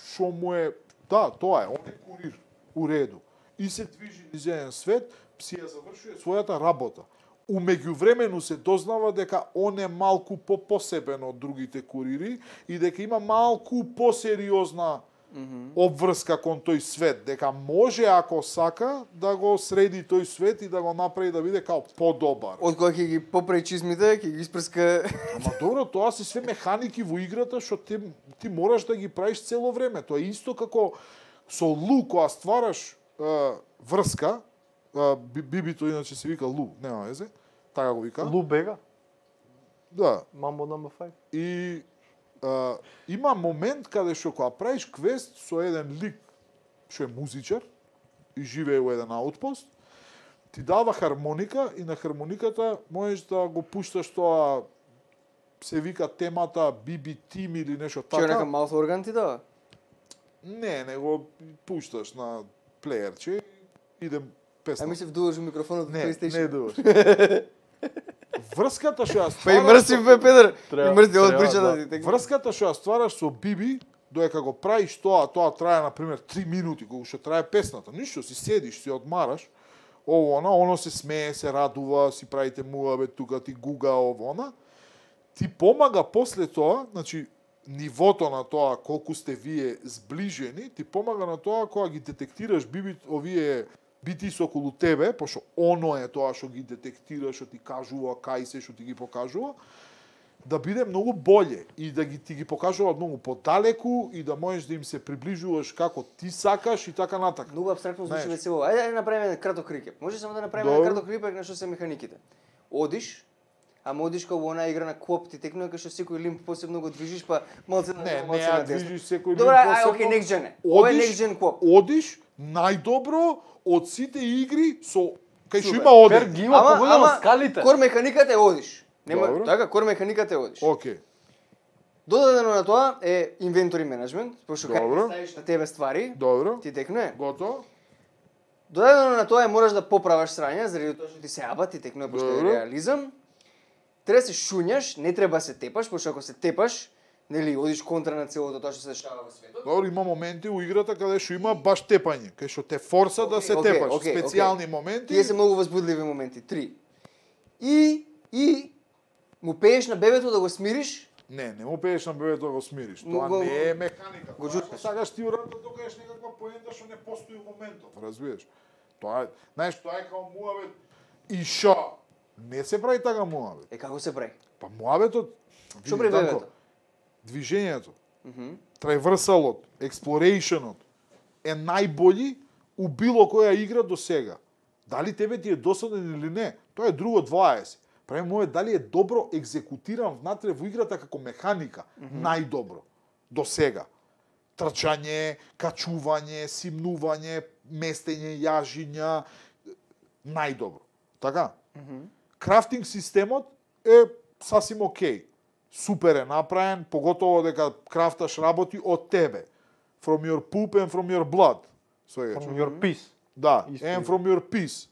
шо му е, да, тоа е, он е курир, у реду. И се движи низ еден свет, си ја завршува својата работа. У меѓувремену се дознава дека он е малку по-посебен од другите курири и дека има малку посериозна обврска кон тој свет, дека може ако сака да го среди тој свет и да го направи да биде као подобар. Од кога ќе ги попре чизмите, ќе ги испрска. Ама добро, тоа се све механики во играта што ти, ти мораш да ги правиш цело време. Тоа е исто како со Лу кога ствараш е, врска, е, би- бибито иначе се вика Лу, нема везе, така го вика. Лу Бега, Да. Mambo number five. И е, има момент каде што кога правиш квест со еден лик што е музичар и живее во еден аутпост, ти дава хармоника и на хармониката можеш да го пушташ тоа се вика темата би би Team или нешто Ќе нека така. mouth organ ти дава. Не, не го пушташ на плеерче и идем песна. А ми се вдуваш во микрофонот од не, PlayStation. не дуваш. Врската што ја Па и ствараш мрсив со- бе Педер. Треба- И мрсив од треба, причата да. ти. тек- Врската што ја ствараш со Биби, додека го правиш тоа, тоа трае на пример три минути, кога што трае песната. Ништо, си седиш, си одмараш. Ово она, оно се смее, се радува, си правите муабе тука, ти гуга ово она. Ти помага после тоа, значи нивото на тоа колку сте вие зближени, ти помага на тоа кога ги детектираш биби овие бити со околу тебе, пошто оно е тоа што ги детектира, што ти кажува, кај се што ти ги покажува, да биде многу боле и да ги ти ги покажува многу подалеку и да можеш да им се приближуваш како ти сакаш и така натака. Многу абстрактно звучи Знаеш. весело. Ајде да направиме еден краток рекеп. Може само да направиме Добро. еден краток рекеп на што се механиките. Одиш, ама одиш како во онаа игра на Коп, ти текнува кај што секој лимп посебно го движиш, па малце на Не, не малце ја на десно. движиш секој Добра, линк ај, посебно. окей, next gen е. Ова е Одиш- next gen Коп. Одиш најдобро од сите игри со кај што Супер. има оди. Пер ги има поголемо скалите. кор механиката е одиш. Нема Добро. така, кор механиката е одиш. Океј. Додадено на тоа е инвентори менеджмент, пошто Добро. кај ставиш на тебе ствари, Добро. ти текнува. Готово. Додадено на тоа мораш да поправаш срања, заради тоа што ти се абати, текнува постои Добро. реализам. Треба да се шуњаш, не треба да се тепаш, пошто ако се тепаш, нели, одиш контра на целото тоа што се дешава во светот. Добро, има моменти у играта каде што има баш тепање, кај што те форса да се Окей, тепаш, окей, специјални окей. моменти. Тие се многу возбудливи моменти. Три. И, и, му пееш на бебето да го смириш. Не, не му пееш на бебето да го смириш. Му Тоа го- не е механика. го Тоа џутнеш. сакаш ти урад да докажеш некаква поента што не постои во моментот, разбираш? Тоа е, знаеш, тоа е као муавет и шо? Не се прави така муавет. Е, како се прави? Па муаветот, Што види, прави Данко, бебето? движењето, Мгм. траверсалот, експлорејшенот е најбољи у било која игра до сега. Дали тебе ти е досаден или не, тоа е друго дваесет. Прави моје дали е добро екзекутиран внатре во играта како механика, најдобро до сега. Трчање, качување, симнување, местење, јажиња, најдобро. Така? Крафтинг системот е сасим окей. Супер е направен, поготово дека крафташ работи од тебе. From your poop and from your blood. Свегаш. From your piece. Да, Исто and е. from your piece.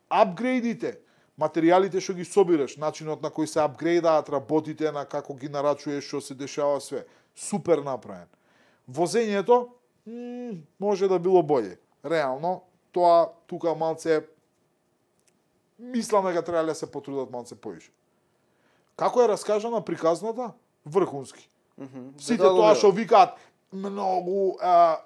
Апгрейдите, материјалите што ги собираш, начинот на кој се апгрейдаат работите, на како ги нарачуваш, што се дешава све. Супер направен. Возењето, м, може да било боле. Реално, тоа тука малце мислам дека требале да се потрудат малце повише. Како е раскажана приказната? Врхунски. Сите тоа го тоа гледам. што викаат многу а,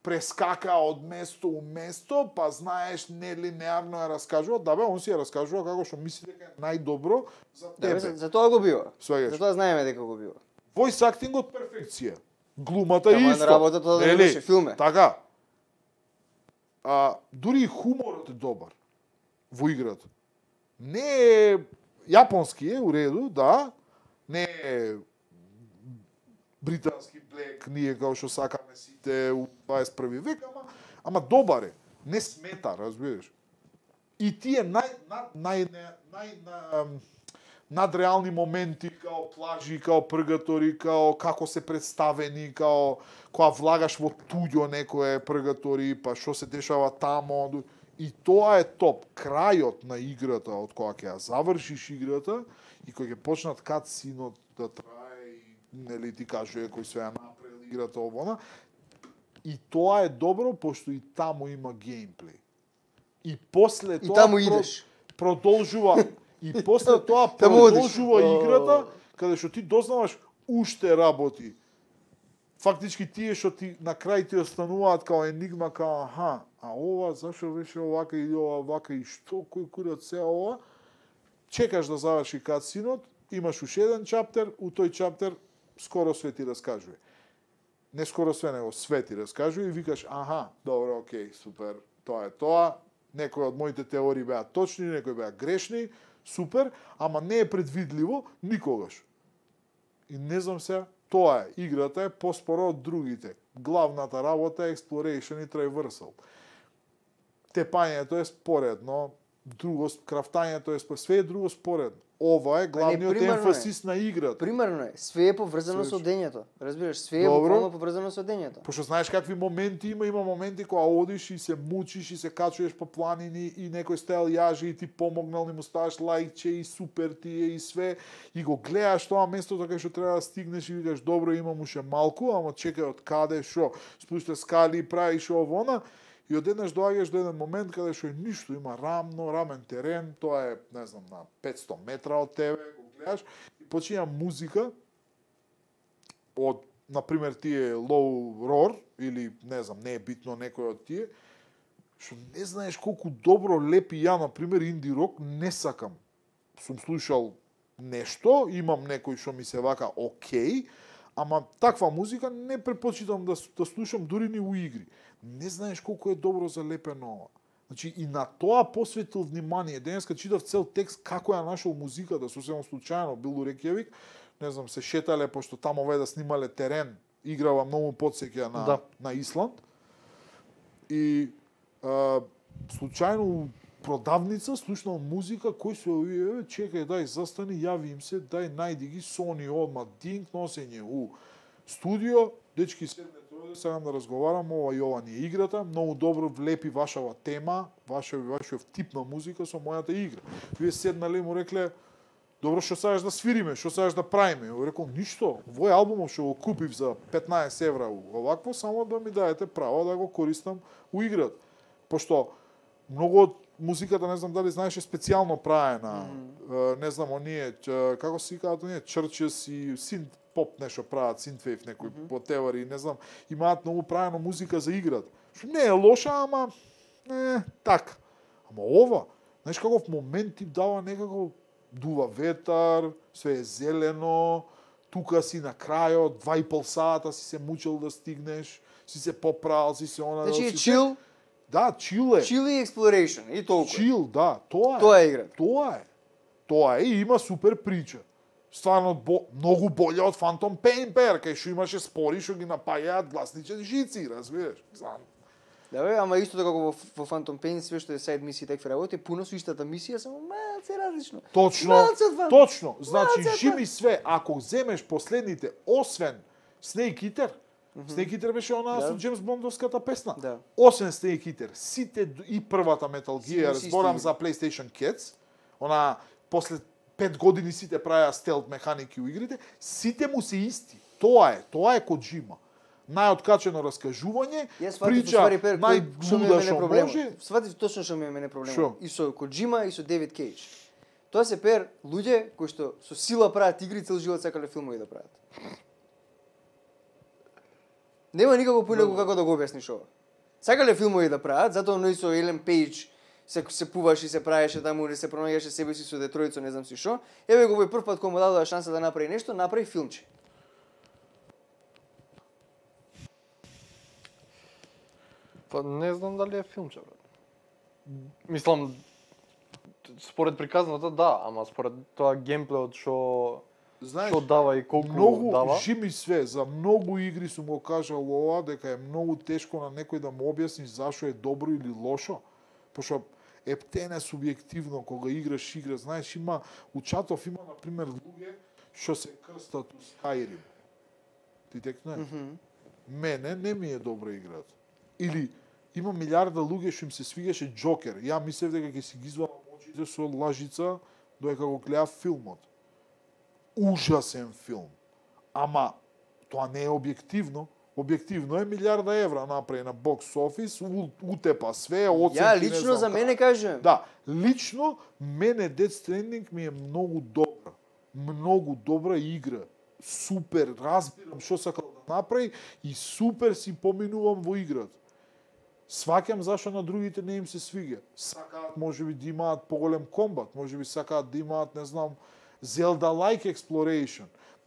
прескака од место у место, па знаеш нелинеарно ја раскажува, да бе, он си ја раскажува како што мисли дека е најдобро за Да, бе, тебе. за, за тоа го бива. Свегаш. За тоа знаеме дека го бива. Voice actingот перфекција. Глумата Тама е исто. работа тоа да Нели? беше филме. Така. А, дури и хуморот е добар во играта. Не е јапонски е, у реду, да. Не е британски блек, ние како што сакаме сите у дваесет и први век, ама, ама добар е. Не смета, разбираш. И тие нај, нај, нај, нај, нај, нај надреални моменти, као плажи, као пргатори, као како се представени, као кога влагаш во туѓо некое пргатори, па што се дешава тамо. И тоа е топ. Крајот на играта, од кога ќе ја завршиш играта и кога ќе почнат катсинот да трае и нели ти кажува кој се ја направил играта овона, и тоа е добро пошто и таму има геймплей. И после И тоа таму про- идеш. продолжува и после тоа Таму одиш. продолжува играта каде што ти дознаваш уште работи. Фактички тие што ти на крај ти остануваат као енигма, као аха, а ова зашо беше овака или ова вака и што кој курат се ова, чекаш да заврши катсинот, имаш уште еден чаптер, у тој чаптер скоро све ти раскажува. Не скоро све, него све ти раскажува и викаш, аха, добро, окей, супер, тоа е тоа, некои од моите теории беа точни, некои беа грешни, супер, ама не е предвидливо никогаш. И не знам се, тоа е, играта е поспоро од другите. Главната работа е exploration и traversal. Тепањето е споредно, друго, крафтањето е споредно, све е друго споредно. Ова е главниот примерно е. емфасис на играта. Примерно е, све е поврзано со Све- дењето. Разбираш, све е Добро. буквално поврзано со дењето. Пошто знаеш какви моменти има, има моменти кога одиш и се мучиш и се качуваш по планини и некој стел јажи и ти помогнал и му ставаш лајкче и супер ти е и све и го гледаш тоа место така што треба да стигнеш и викаш добро имам уште малку, ама чекај од каде шо, спушташ скали и правиш овона и одеднаш доаѓаш до еден момент каде што е ништо, има рамно, рамен терен, тоа е, не знам, на петсто метра од тебе, го гледаш и почиња музика од, например, тие Low Roar, или, не знам, не е битно некој од тие, што не знаеш колку добро лепи ја, например, инди рок, не сакам. Сум слушал нешто, имам некој што ми се вака окей, ама таква музика не предпочитам да, да слушам дури ни у игри. Не знаеш колку е добро залепено ова. Значи, и на тоа посветил внимание. Денеска читав цел текст како ја нашол музиката, сосема случајно, бил у Рекјавик, не знам, се шетале, пошто таму овде да снимале терен, играва многу потсеќа на, Да. на Исланд. И а, случајно у продавница слушнал музика, кој се овие, чекај, дај, застани, јави им се, дај, најди ги, Сони, одма, динк, носење у студио, дечки седнете овде сакам да разговарам, ова и ова ни е играта, многу добро влепи вашава тема, вашев вашев тип на музика со мојата игра. Вие седнале и му рекле, добро, што сакаш да свириме, што сакаш да правиме? Ја рекол, ништо, овој албумов што го купив за петнаесет евра овакво, само да ми даете право да го користам у играта. Пошто многу од музиката, не знам дали знаеш, е специјално правена. Mm -hmm. Не знам, оние, како се викаат оние, Churches и синт поп нешто прават, синтвейв некои mm -hmm. потевари, не знам, имаат многу правено музика за играта. Што не е лоша, ама не, така. Ама ова, знаеш каков момент ти дава некако дува ветар, све е зелено, тука си на крајот, два и пол сата си се мучил да стигнеш, си се попрал, си се она... Значи е си чил? Да, чил е. Чил и exploration, и толку. Чил, да, тоа е. Тоа е играта. Тоа е. Тоа е и има супер прича. Стварно бо, многу боле од Phantom Pain, пер, кај што имаше спори што ги напајаат гласничен жици, разбираш? Знам. Да бе, ама исто така во, во Phantom Pain све што е сайд мисија такви работи, пуно со истата мисија, само малце различно. Точно, Малце од точно. Значи, Малце од жими све, ако земеш последните, освен Snake Eater, mm -hmm. Snake Eater беше она Да. со Джеймс Бондовската песна. Да. Освен Snake Eater, сите и првата Metal Сите Gear, си зборам исти. за PlayStation Kids, она после пет години сите правеа стелт механики у игрите, сите му се исти. Тоа е, тоа е Коджима. Најоткачено раскажување, Јас сватив прича уствари пер кој- што ми е најблуда мене што проблемот. може. Сватив точно што ми е мене проблемот. Шо? И со Коджима и со Девид Кейдж. Тоа се пер луѓе кои што со сила прават игри, цел живот сакале филмови да прават. Нема никако поинаку како да го објасниш ова. Сакале филмови да прават, затоа но и со Елен Пејдж се се пуваш и се правеше таму, или се пронаѓаше себе си со Детројцо, не знам си што. Еве го овој прв пат кога му дадоа шанса да направи нешто, направи филмче. Па не знам дали е филмче, брат. Мислам, според приказната да, ама според тоа геймплеот што Знаеш, што дава и колку многу дава. жими све, за многу игри сум го кажал ова, дека е многу тешко на некој да му објасниш зашо е добро или лошо, пошто ептене субјективно кога играш игра, знаеш, има у чатов има на пример луѓе што се крстат у Skyrim. Ти текне? Mm -hmm. Мене не ми е добра играта. Или има милиарда луѓе што им се свигаше Джокер. Ја мислев дека ќе си ги извадам очите со лажица додека го гледав филмот. Ужасен филм. Ама тоа не е објективно. Објективно е милиарда евра направи на бокс офис, утепа све, оценки. Ја не лично знам за како. мене кажувам. Да, лично мене Death Stranding ми е многу добра. Многу добра игра. Супер, разбирам што сакал да направи и супер си поминувам во играта. Сваќам зашто на другите не им се свиѓа. Сакаат можеби да имаат поголем комбат, можеби сакаат да имаат, не знам, Zelda-like exploration.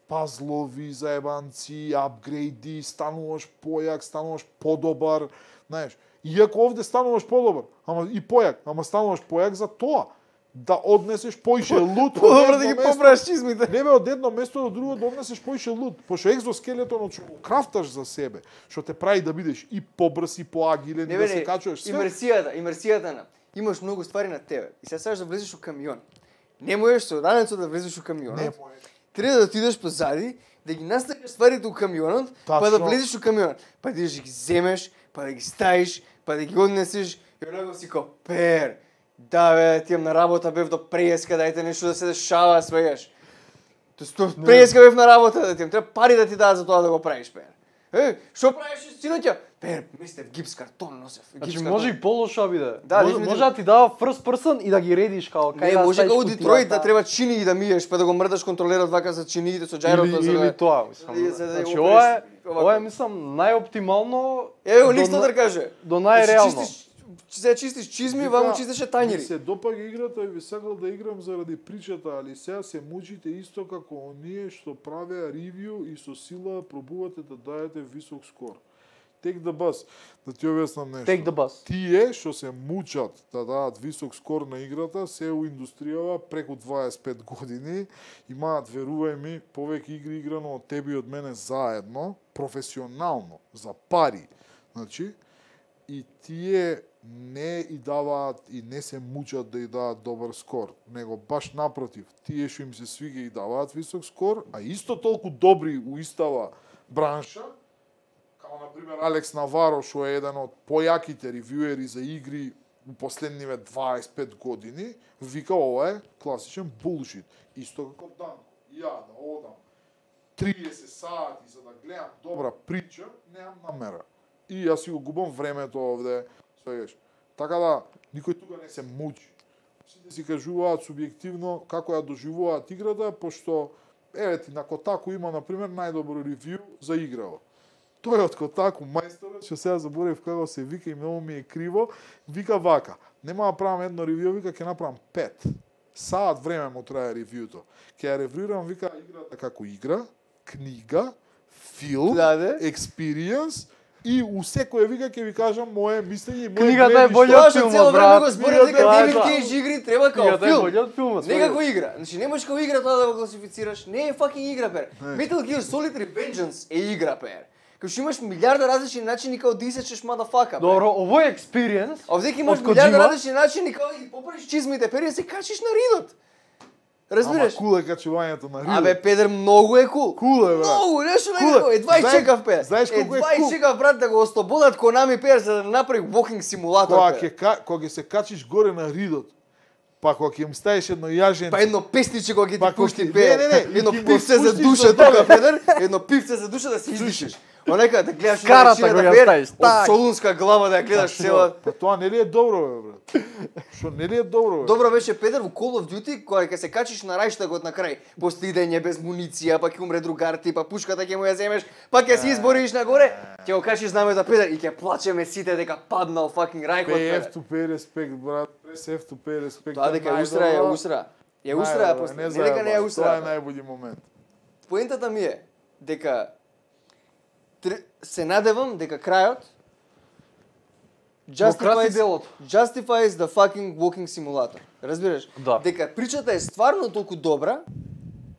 Пазлови, заебанци, апгрейди, стануваш појак, стануваш подобар, знаеш. Иако овде стануваш подобар, ама и појак, ама стануваш појак за тоа да однесеш поише лут. Подобро да ги поправиш чизмите. Не бе, од едно место до друго да однесеш поише лут. Пошто екзоскелетонот што го крафташ за себе, што те прави да бидеш и побрз и поагилен, Не и да бе, се не, качуваш све. имерсијата, имерсијата на. Имаш многу ствари на тебе. И сега сакаш да влезеш у камион. Не можеш со ранецот да влезеш у камионот. Не можеш. Треба да отидеш позади, да ги наставиш стварите у камионот, па Тачно. да влезеш у камионот. Па да ги земеш, па да ги ставиш, па да ги однесеш. И онако си као, пер, да бе, тијам на работа бев до преска, дајте нешто да се дешава, свегаш. То сто преска бев на работа, да тијам, треба пари да ти дадат за тоа да го правиш, пер. Е, што правиш синоќа? Пер, мислев гипс картон носев. Значи гипс може картон. и полошо биде. Да, може, дефинитивно. може да ти дава first person и да ги редиш као кај Не, да може ставиш како у кутијата. Детройт да треба чинии да миеш, па да го мрдаш контролерот вака за чиниите со џајрото. или, за да- или тоа, мислам. за да- за да Значи го ова е, правиш ова е овако. мислам најоптимално. Еве го до Никс на- да каже. До најреално. Значи, чистиш- Се чистиш чизми, ваму чистеше Ми тањери. се допаѓа играта и би сакал да играм заради причата, али сега се мучите исто како оние што правеа ревју и со сила пробувате да дајете висок скор. Take the bus. Да ти објаснам нешто. Take the bus. Тие што се мучат да дадат висок скор на играта, се у индустријава преку дваесет и пет години, имаат, верувај ми, повеќе игри играно од тебе и од мене заедно, професионално, за пари. Значи, и тие не и даваат и не се мучат да и дадат добар скор, него баш напротив, тие што им се свига и даваат висок скор, а исто толку добри у истава бранша, Ама, например, Алекс Наваро, што е еден од појаките ревјуери за игри у последниве дваесет и пет години, вика ова е класичен булшит. Исто како Данко. Ја да одам триесет сати за да гледам добра прича, немам намера. И јас си го губам времето овде, свегаш. Така да, никој тука не се мучи. Сите си кажуваат субјективно како ја доживуваат играта, пошто, еве ти, на Котаку има, например, најдобро ревју за играва. Тој од Котаку, мајсторот, што сега заборев како се вика и многу ми е криво, вика вака, нема да правам едно ревју, вика, ќе направам пет. Саат време му трае ревјуто. Ќе ја ревјуирам, вика, играта како игра, книга, филм, Да, да. експириенс, и у секој вика ќе ви кажам мое мислење и мое Книгата е гледиште. болја Тоа од што филмот, цело време брат. го збори Книгата дека е- David да. Cage игри треба као Книгата е филм. болја од филмот. Не како игра. Значи не можеш како игра тоа да го класифицираш. Не е fucking игра, пер. Metal Gear Solid Revengeance е игра, пер. Као што имаш милиарда различни начини како да исечеш мадафака. Добро, ово е experience. Овде ќе имаш од милиарда Коджима. различни начини како да ги поправиш чизмите, пер и да се качиш на ридот. Разбираш? Ама кул е качувањето на ридот. Абе, педер, многу е кул. Кул е, брат. Многу, нешто Кул е. некако. Едва и Знаеш- чекав, пе. знаеш колку е Едва и кул? чекав, брат, да го ослободат Konami, пе, за да направи walking симулатор, Кога пе. ќе ка- кога ќе се качиш горе на ридот, па кога ќе им ставиш едно јаженце, Па едно песниче кога ќе Па ти кога пушти ќе- пе. не, не, не, Едно и ќе го пивце за спуштиш душа до долу. тука, педер. Едно пивце за душа да се издишиш. Онека да гледаш Карата на го ја речината, пер, ставиш, од так. солунска глава да ја гледаш Што? цела. Па тоа не ли е добро, бе, брат? Што не ли е добро, бе? Добро беше педер во Call of Duty кога ќе се качиш на рајштагот на крај, после идење без муниција, па ќе умре другар ти, па пушката ќе му ја земеш, па ќе се избориш нагоре, ќе го качиш знамето педер и ќе плачеме сите дека паднал fucking рајкот. Pay педер. F to pay respect, брат. Press F to pay respect. Тоа дека ја устра, ја устра. Ја устра, Најдобро, после. Не дека не ја заебаш, устра. Тоа е најбољи момент. Поентата ми е дека тр- се надевам дека крајот краси justifies, делото. justifies the fucking walking simulator. Разбираш? Да. Дека причата е стварно толку добра,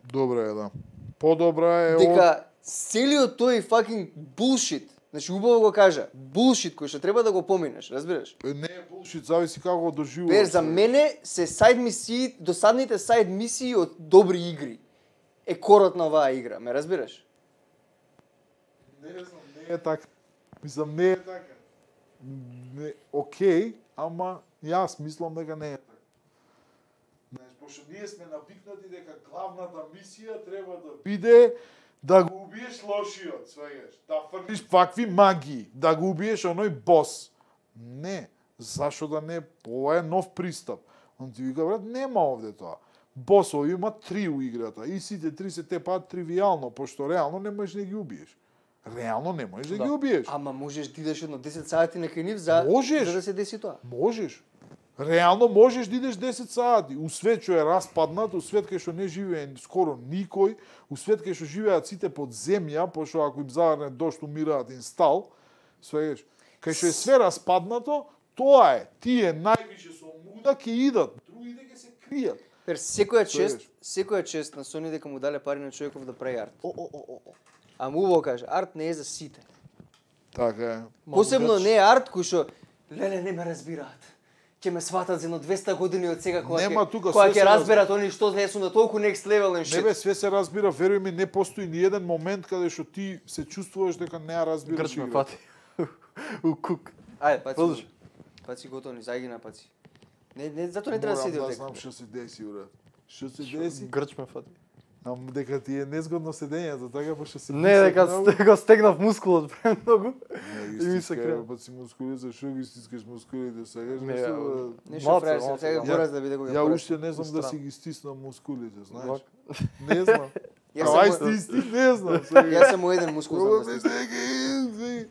Добра е, да. Подобра е од... дека целиот тој fucking bullshit, значи убаво го кажа, bullshit кој што треба да го поминеш, разбираш? Не е булшит, зависи како го доживуваш. Пер, за мене се сайд мисии, досадните сайд мисии од добри игри е корот на оваа игра, ме разбираш? Не знам, не е така. Мислам, не е така. Не, окей, ама јас мислам дека не е така. Знаеш, пошто ние сме навикнати дека главната мисија треба да биде да го убиеш лошиот, сваѓаш, да фрлиш вакви магии, да го убиеш оној бос. Не, зашо да не? Ова е нов пристап. Он ти вика, брат, нема овде тоа. Босови има три у играта и сите три се тепаат тривијално, пошто реално не можеш да ги убиеш. Реално не можеш да, Да. ги убиеш. Ама можеш да идеш едно десет сати на кај нив за Можеш. за да се деси тоа. Можеш. Реално можеш да идеш десет сати. У свет што е распаднат, у свет кај што не живее скоро никој, у свет кај што живеат сите под земја, пошто ако им заврне дошт умираат инстал, свегаш. Кај што е све распаднато, тоа е. Тие највише со муда ќе идат, другите ќе се кријат. Пер секоја чест, Свегаш. секоја чест на Sony дека му дале пари на човеков да прави арт. О, о, о, о, о. А му убаво каже, арт не е за сите. Така е. Посебно не е арт кој што леле не ме разбираат. Ќе ме сватат за едно двесте години од сега кога Нема ќе тука, кога све ќе се разберат они што не сум на толку next level and Не shit. бе, све се разбира, веруј ми, не постои ни еден момент каде што ти се чувствуваш дека не ја разбираш Грч ме играта. фати. У кук. Ајде, Паци, продолжи. паци готови, загина паци. Не, не, зато не треба да Морам седи да овде. знам што се деси, брат. Што се деси? Грч ме фати. Ам дека ти е незгодно седењето, така пошто се Не, дека сте- го стегнав мускулот премногу. И и ми ми се се крена. па си мускули, зашо ги стискаш мускулите сега? Не, Нешто, а, бе, Нешто Малце, фраер, малце, сега да. мора да биде кога Ја пораш. уште не знам да Устран. си ги стиснам мускулите, знаеш? Вак. Не знам. Јас Ама, Ај сам му- стисни, не знам. сега. Јас само еден мускул знам Ова да ми стискам. сега,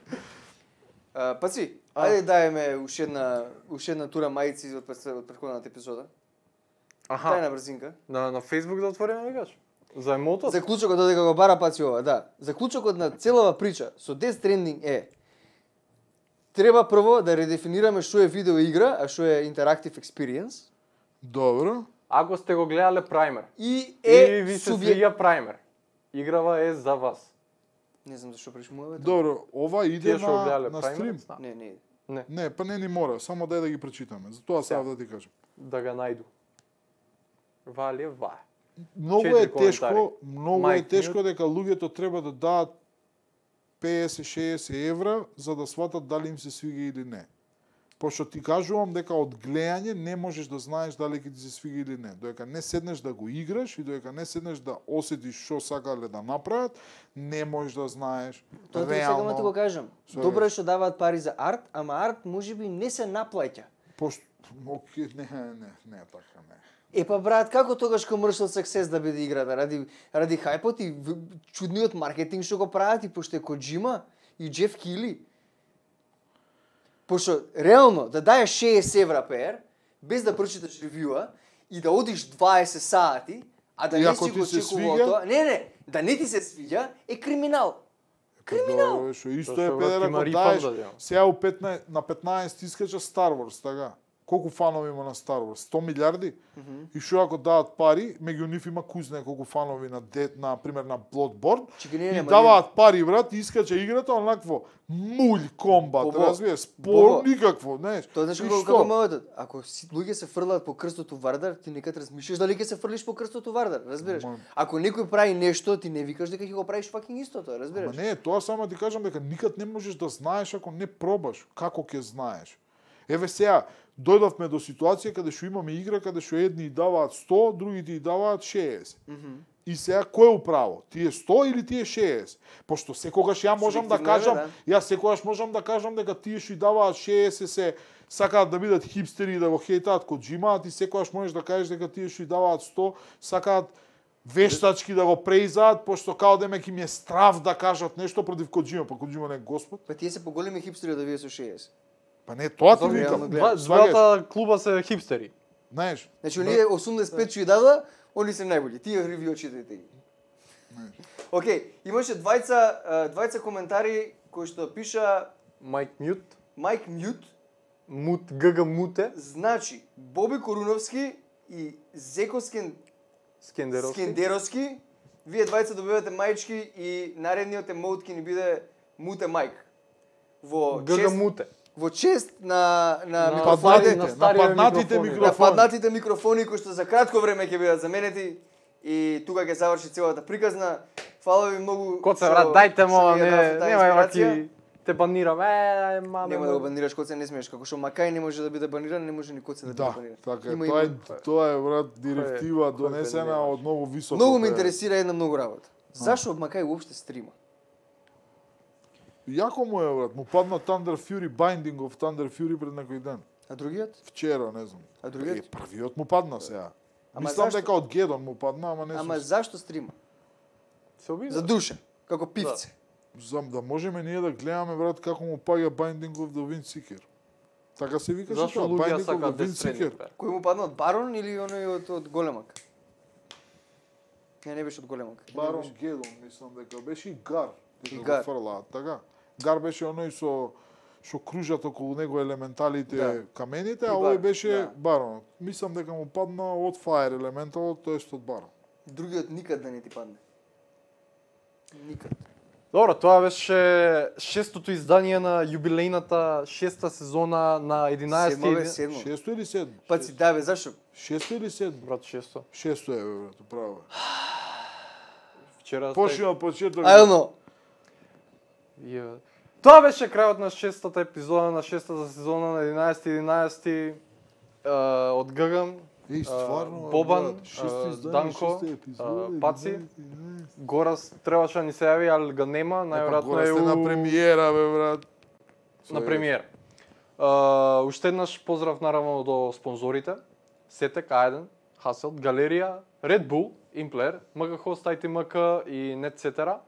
А, Паци, А. ајде даеме уште една уште една тура мајци од пред- од претходната епизода. Дај Аха. на брзинка. На на Facebook да отвориме викаш? За емотот? Заклучокот додека го бара Паци ова, да. Заклучокот на целава прича со Death Stranding е треба прво да редефинираме што е видео игра, а што е interactive experience Добро. Ако сте го гледале Primer и и е ви се субјект... свиѓа Primer, играва е за вас. Не знам зашто пришмуваме. Добро, ова иде Тие што го на, гледале на Primer, стрим. знам. Не, не. Не, Не, па не ни мора, само дај да ги прочитаме. Затоа сега Да. да ти кажам. да ga најду. Вали ва. Многу Четири е тешко, коментари. многу е Майк тешко дека луѓето треба да дадат песет шеесет евра за да сватат дали им се свига или не. Пошто ти кажувам дека од гледање не можеш да знаеш дали ќе ти се свига или не. Додека не седнеш да го играш и додека не седнеш да осетиш што сакале да направат, не можеш да знаеш Тоа ти реално. сега ти го кажам. Свегаш. Добро е што даваат пари за арт, ама арт можеби не се наплаќа. Пошто окей, не, не, не е така, не. Е па брат, како тогаш commercial success да биде играта? Ради ради хајпот и в- чудниот маркетинг што го прават и пошто е Коджима и Джеф Кили. Пошто реално да даеш шеесет евра пер без да прочиташ ревјуа и да одиш дваесет сати, а да И не ако си ти го се чекувал свиѓа? тоа, не не, да не ти се свиѓа е криминал. Криминал. Добро, шо исто Зашто е брат, педер има ако рифанд даеш да дадам. сега у петнаесет на петнаесет искача Star Wars, така. Колку фанови има на Star Wars? сто милиарди? И што ако дадат пари, меѓу нив има куз неколку фанови на Dead, на пример на Bloodborne. Чеки, не, не, И ама даваат пари, брат, и искача играта онакво мулј комбат, Бобо, разбираш, спор Бобо. никакво, знаеш. Тоа знаеш И како што? како модот. Ако си луѓе се фрлаат по крстото Вардар, ти некад размислиш дали ќе се фрлиш по крстото Вардар, разбираш? Ма- Ако некој прави нешто, ти не викаш дека ќе го правиш факинг истото, Ама разбираш? не, тоа само ти кажам дека никад не можеш да знаеш ако не пробаш. Како ќе знаеш? Еве сега, дојдовме до ситуација каде што имаме игра каде што едни и даваат сто, другите и даваат шеесет. И сега кој е управо? Тие сто или тие шеесет? Пошто секогаш ја можам да Субјективно е, кажам, да. јас секогаш можам да кажам дека тие што и даваат шеесет се сакаат да бидат хипстери и да го хейтаат Коджима, а ти секогаш можеш да кажеш дека тие што и даваат сто сакаат вештачки да го преизаат, пошто као демек им е страв да кажат нешто против Коджима, па Коджима не е господ. Па тие се поголеми хипстери од овие со шеесет. Па не, тоа ти Зошто викам. реално гледам? Два- Сваѓаш? Двата клуба се хипстери. Знаеш, Значи оние осумдесет и пет што ја дада, они се најбољи. Тие ревју читајте ги. Океј, имаше двајца а, двајца коментари кои што пиша Майк Мют, Майк Мют, Мут ГГ Муте, значи Боби Коруновски и Зеко Скен Скендеровски. Скендеровски, вие двајца добивате мајчки и наредниот емоут ќе ни биде Муте Майк. Во ГГ чест, Муте. во чест на на На микрофоните, паднатите, на, на старите нападнатите микрофони. микрофони. паднатите микрофони кои што за кратко време ќе бидат заменети и тука ќе заврши целата приказна. Фала ви многу. Коце што- брат, дајте што му, ми ја не, дадовте таа нема инспирација. ваки те банирам. Е, маме. Нема да го банираш Коце, не смееш, како што Макај не може да биде баниран, не може ни Коце да биде да, баниран. така е. Има- Тоа е, има- тоа е брат директива кој е донесена бенемаш? од многу високо. Многу ме тоа е. интересира една многу работа. Зашо Макај уопште стрима? Јако му е брат, му падна Thunder Fury Binding of Thunder Fury пред некој ден. А другиот? Вчера, не знам. А Е, другиот? првиот му падна сега. Ама Мислам зашто? дека од Гедон му падна, ама не Ама сум. зашто стрима? Се обида. За душа, како пивце. Зам да можеме ние да гледаме брат како му паѓа Binding of the Windseeker. Така се викаше Зашто тоа, луѓе Binding of the сакаат да Windseeker. средни? Кој му падна од Барон или оној од, од Големак? Не, не беше од Големак. Барон Гедон, мислам дека беше и Гар. И дека го Гар. фрлаат, така. Гар беше оној со што кружат околу него елементалите, Да. камените, И а Бар- овој беше да. Барон. Мислам дека му падна од Fire Elemental, тоест од Барон. Другиот никад да не ти падне. Никад. Добро, тоа беше шестото издание на јубилејната шеста сезона на единаесети. Седмо бе, седмо. Шесто или седмо? Паци, да бе, зашо? Шесто или седмо? Брат, шесто. Шесто е, бе, брат, право е. Вчера Почни од почеток. Ајно. Ја. Тоа беше крајот на шестата епизода на шестата сезона на единаесети единаесети е, од Гаган, Еј, стварно, а, Бобан, брат, шесто а, издание, Данко, шеста епизода, а, Паци. единаесет, единаесет. Горас требаше да ни се јави, али га нема, Епа, најверојатно гора е сте на у... премиера, бе, брат. на премиера. Uh, уште еднаш поздрав наравно до спонзорите. Сетек, Ајден, Хаселт, Галерија, Red Bull, Implayer, МГХост, ай ти ем ка и Netcetera.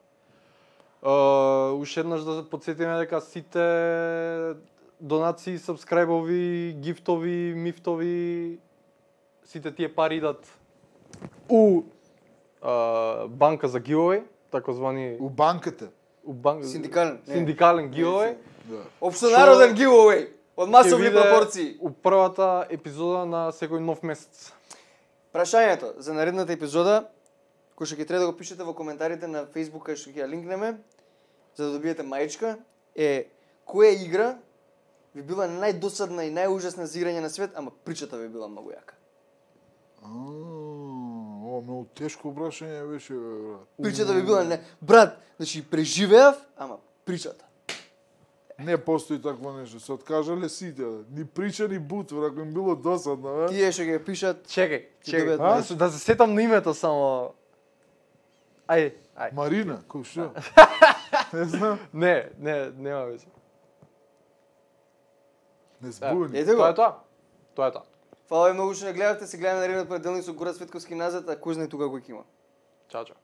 Uh, уште еднаш да се подсетиме дека сите донации, сабскрајбови, гифтови, мифтови, сите тие пари идат у uh, банка за giveaway, таkozvani У банката. у бан... Синдикален. Не. синдикален giveaway. Да. Општонароден giveaway од масовни Ќе биде пропорции. У првата епизода на секој нов месец. Прашањето за наредната епизода, кој што ќе треба да го пишете во коментарите на Facebook, кај што ќе ја линкнеме, за да добиете мајчка, е која игра ви била најдосадна и најужасна за играње на свет, ама причата ви била многу јака. А, О, многу тешко прашање беше, бе, брат. Причата ви била не... Брат, значи преживеав, ама причата. Не постои такво нешто, се откажале сите. Ни прича, ни бутвор, ако им било досадно, бе. Тие што ги пишат, Чекај, чекај, добијат да, А? се- да се сетам на името само. Ај, ај. Марина, кој што? Не знам, Не, не, нема веќе. не збуни. ете Тоа е го. тоа. Тоа е тоа. Фала ви многу што не гледавте, се гледаме наредниот понеделник со Горат Светковски назад, а кој знае тука кој ќе има. Чао, чао.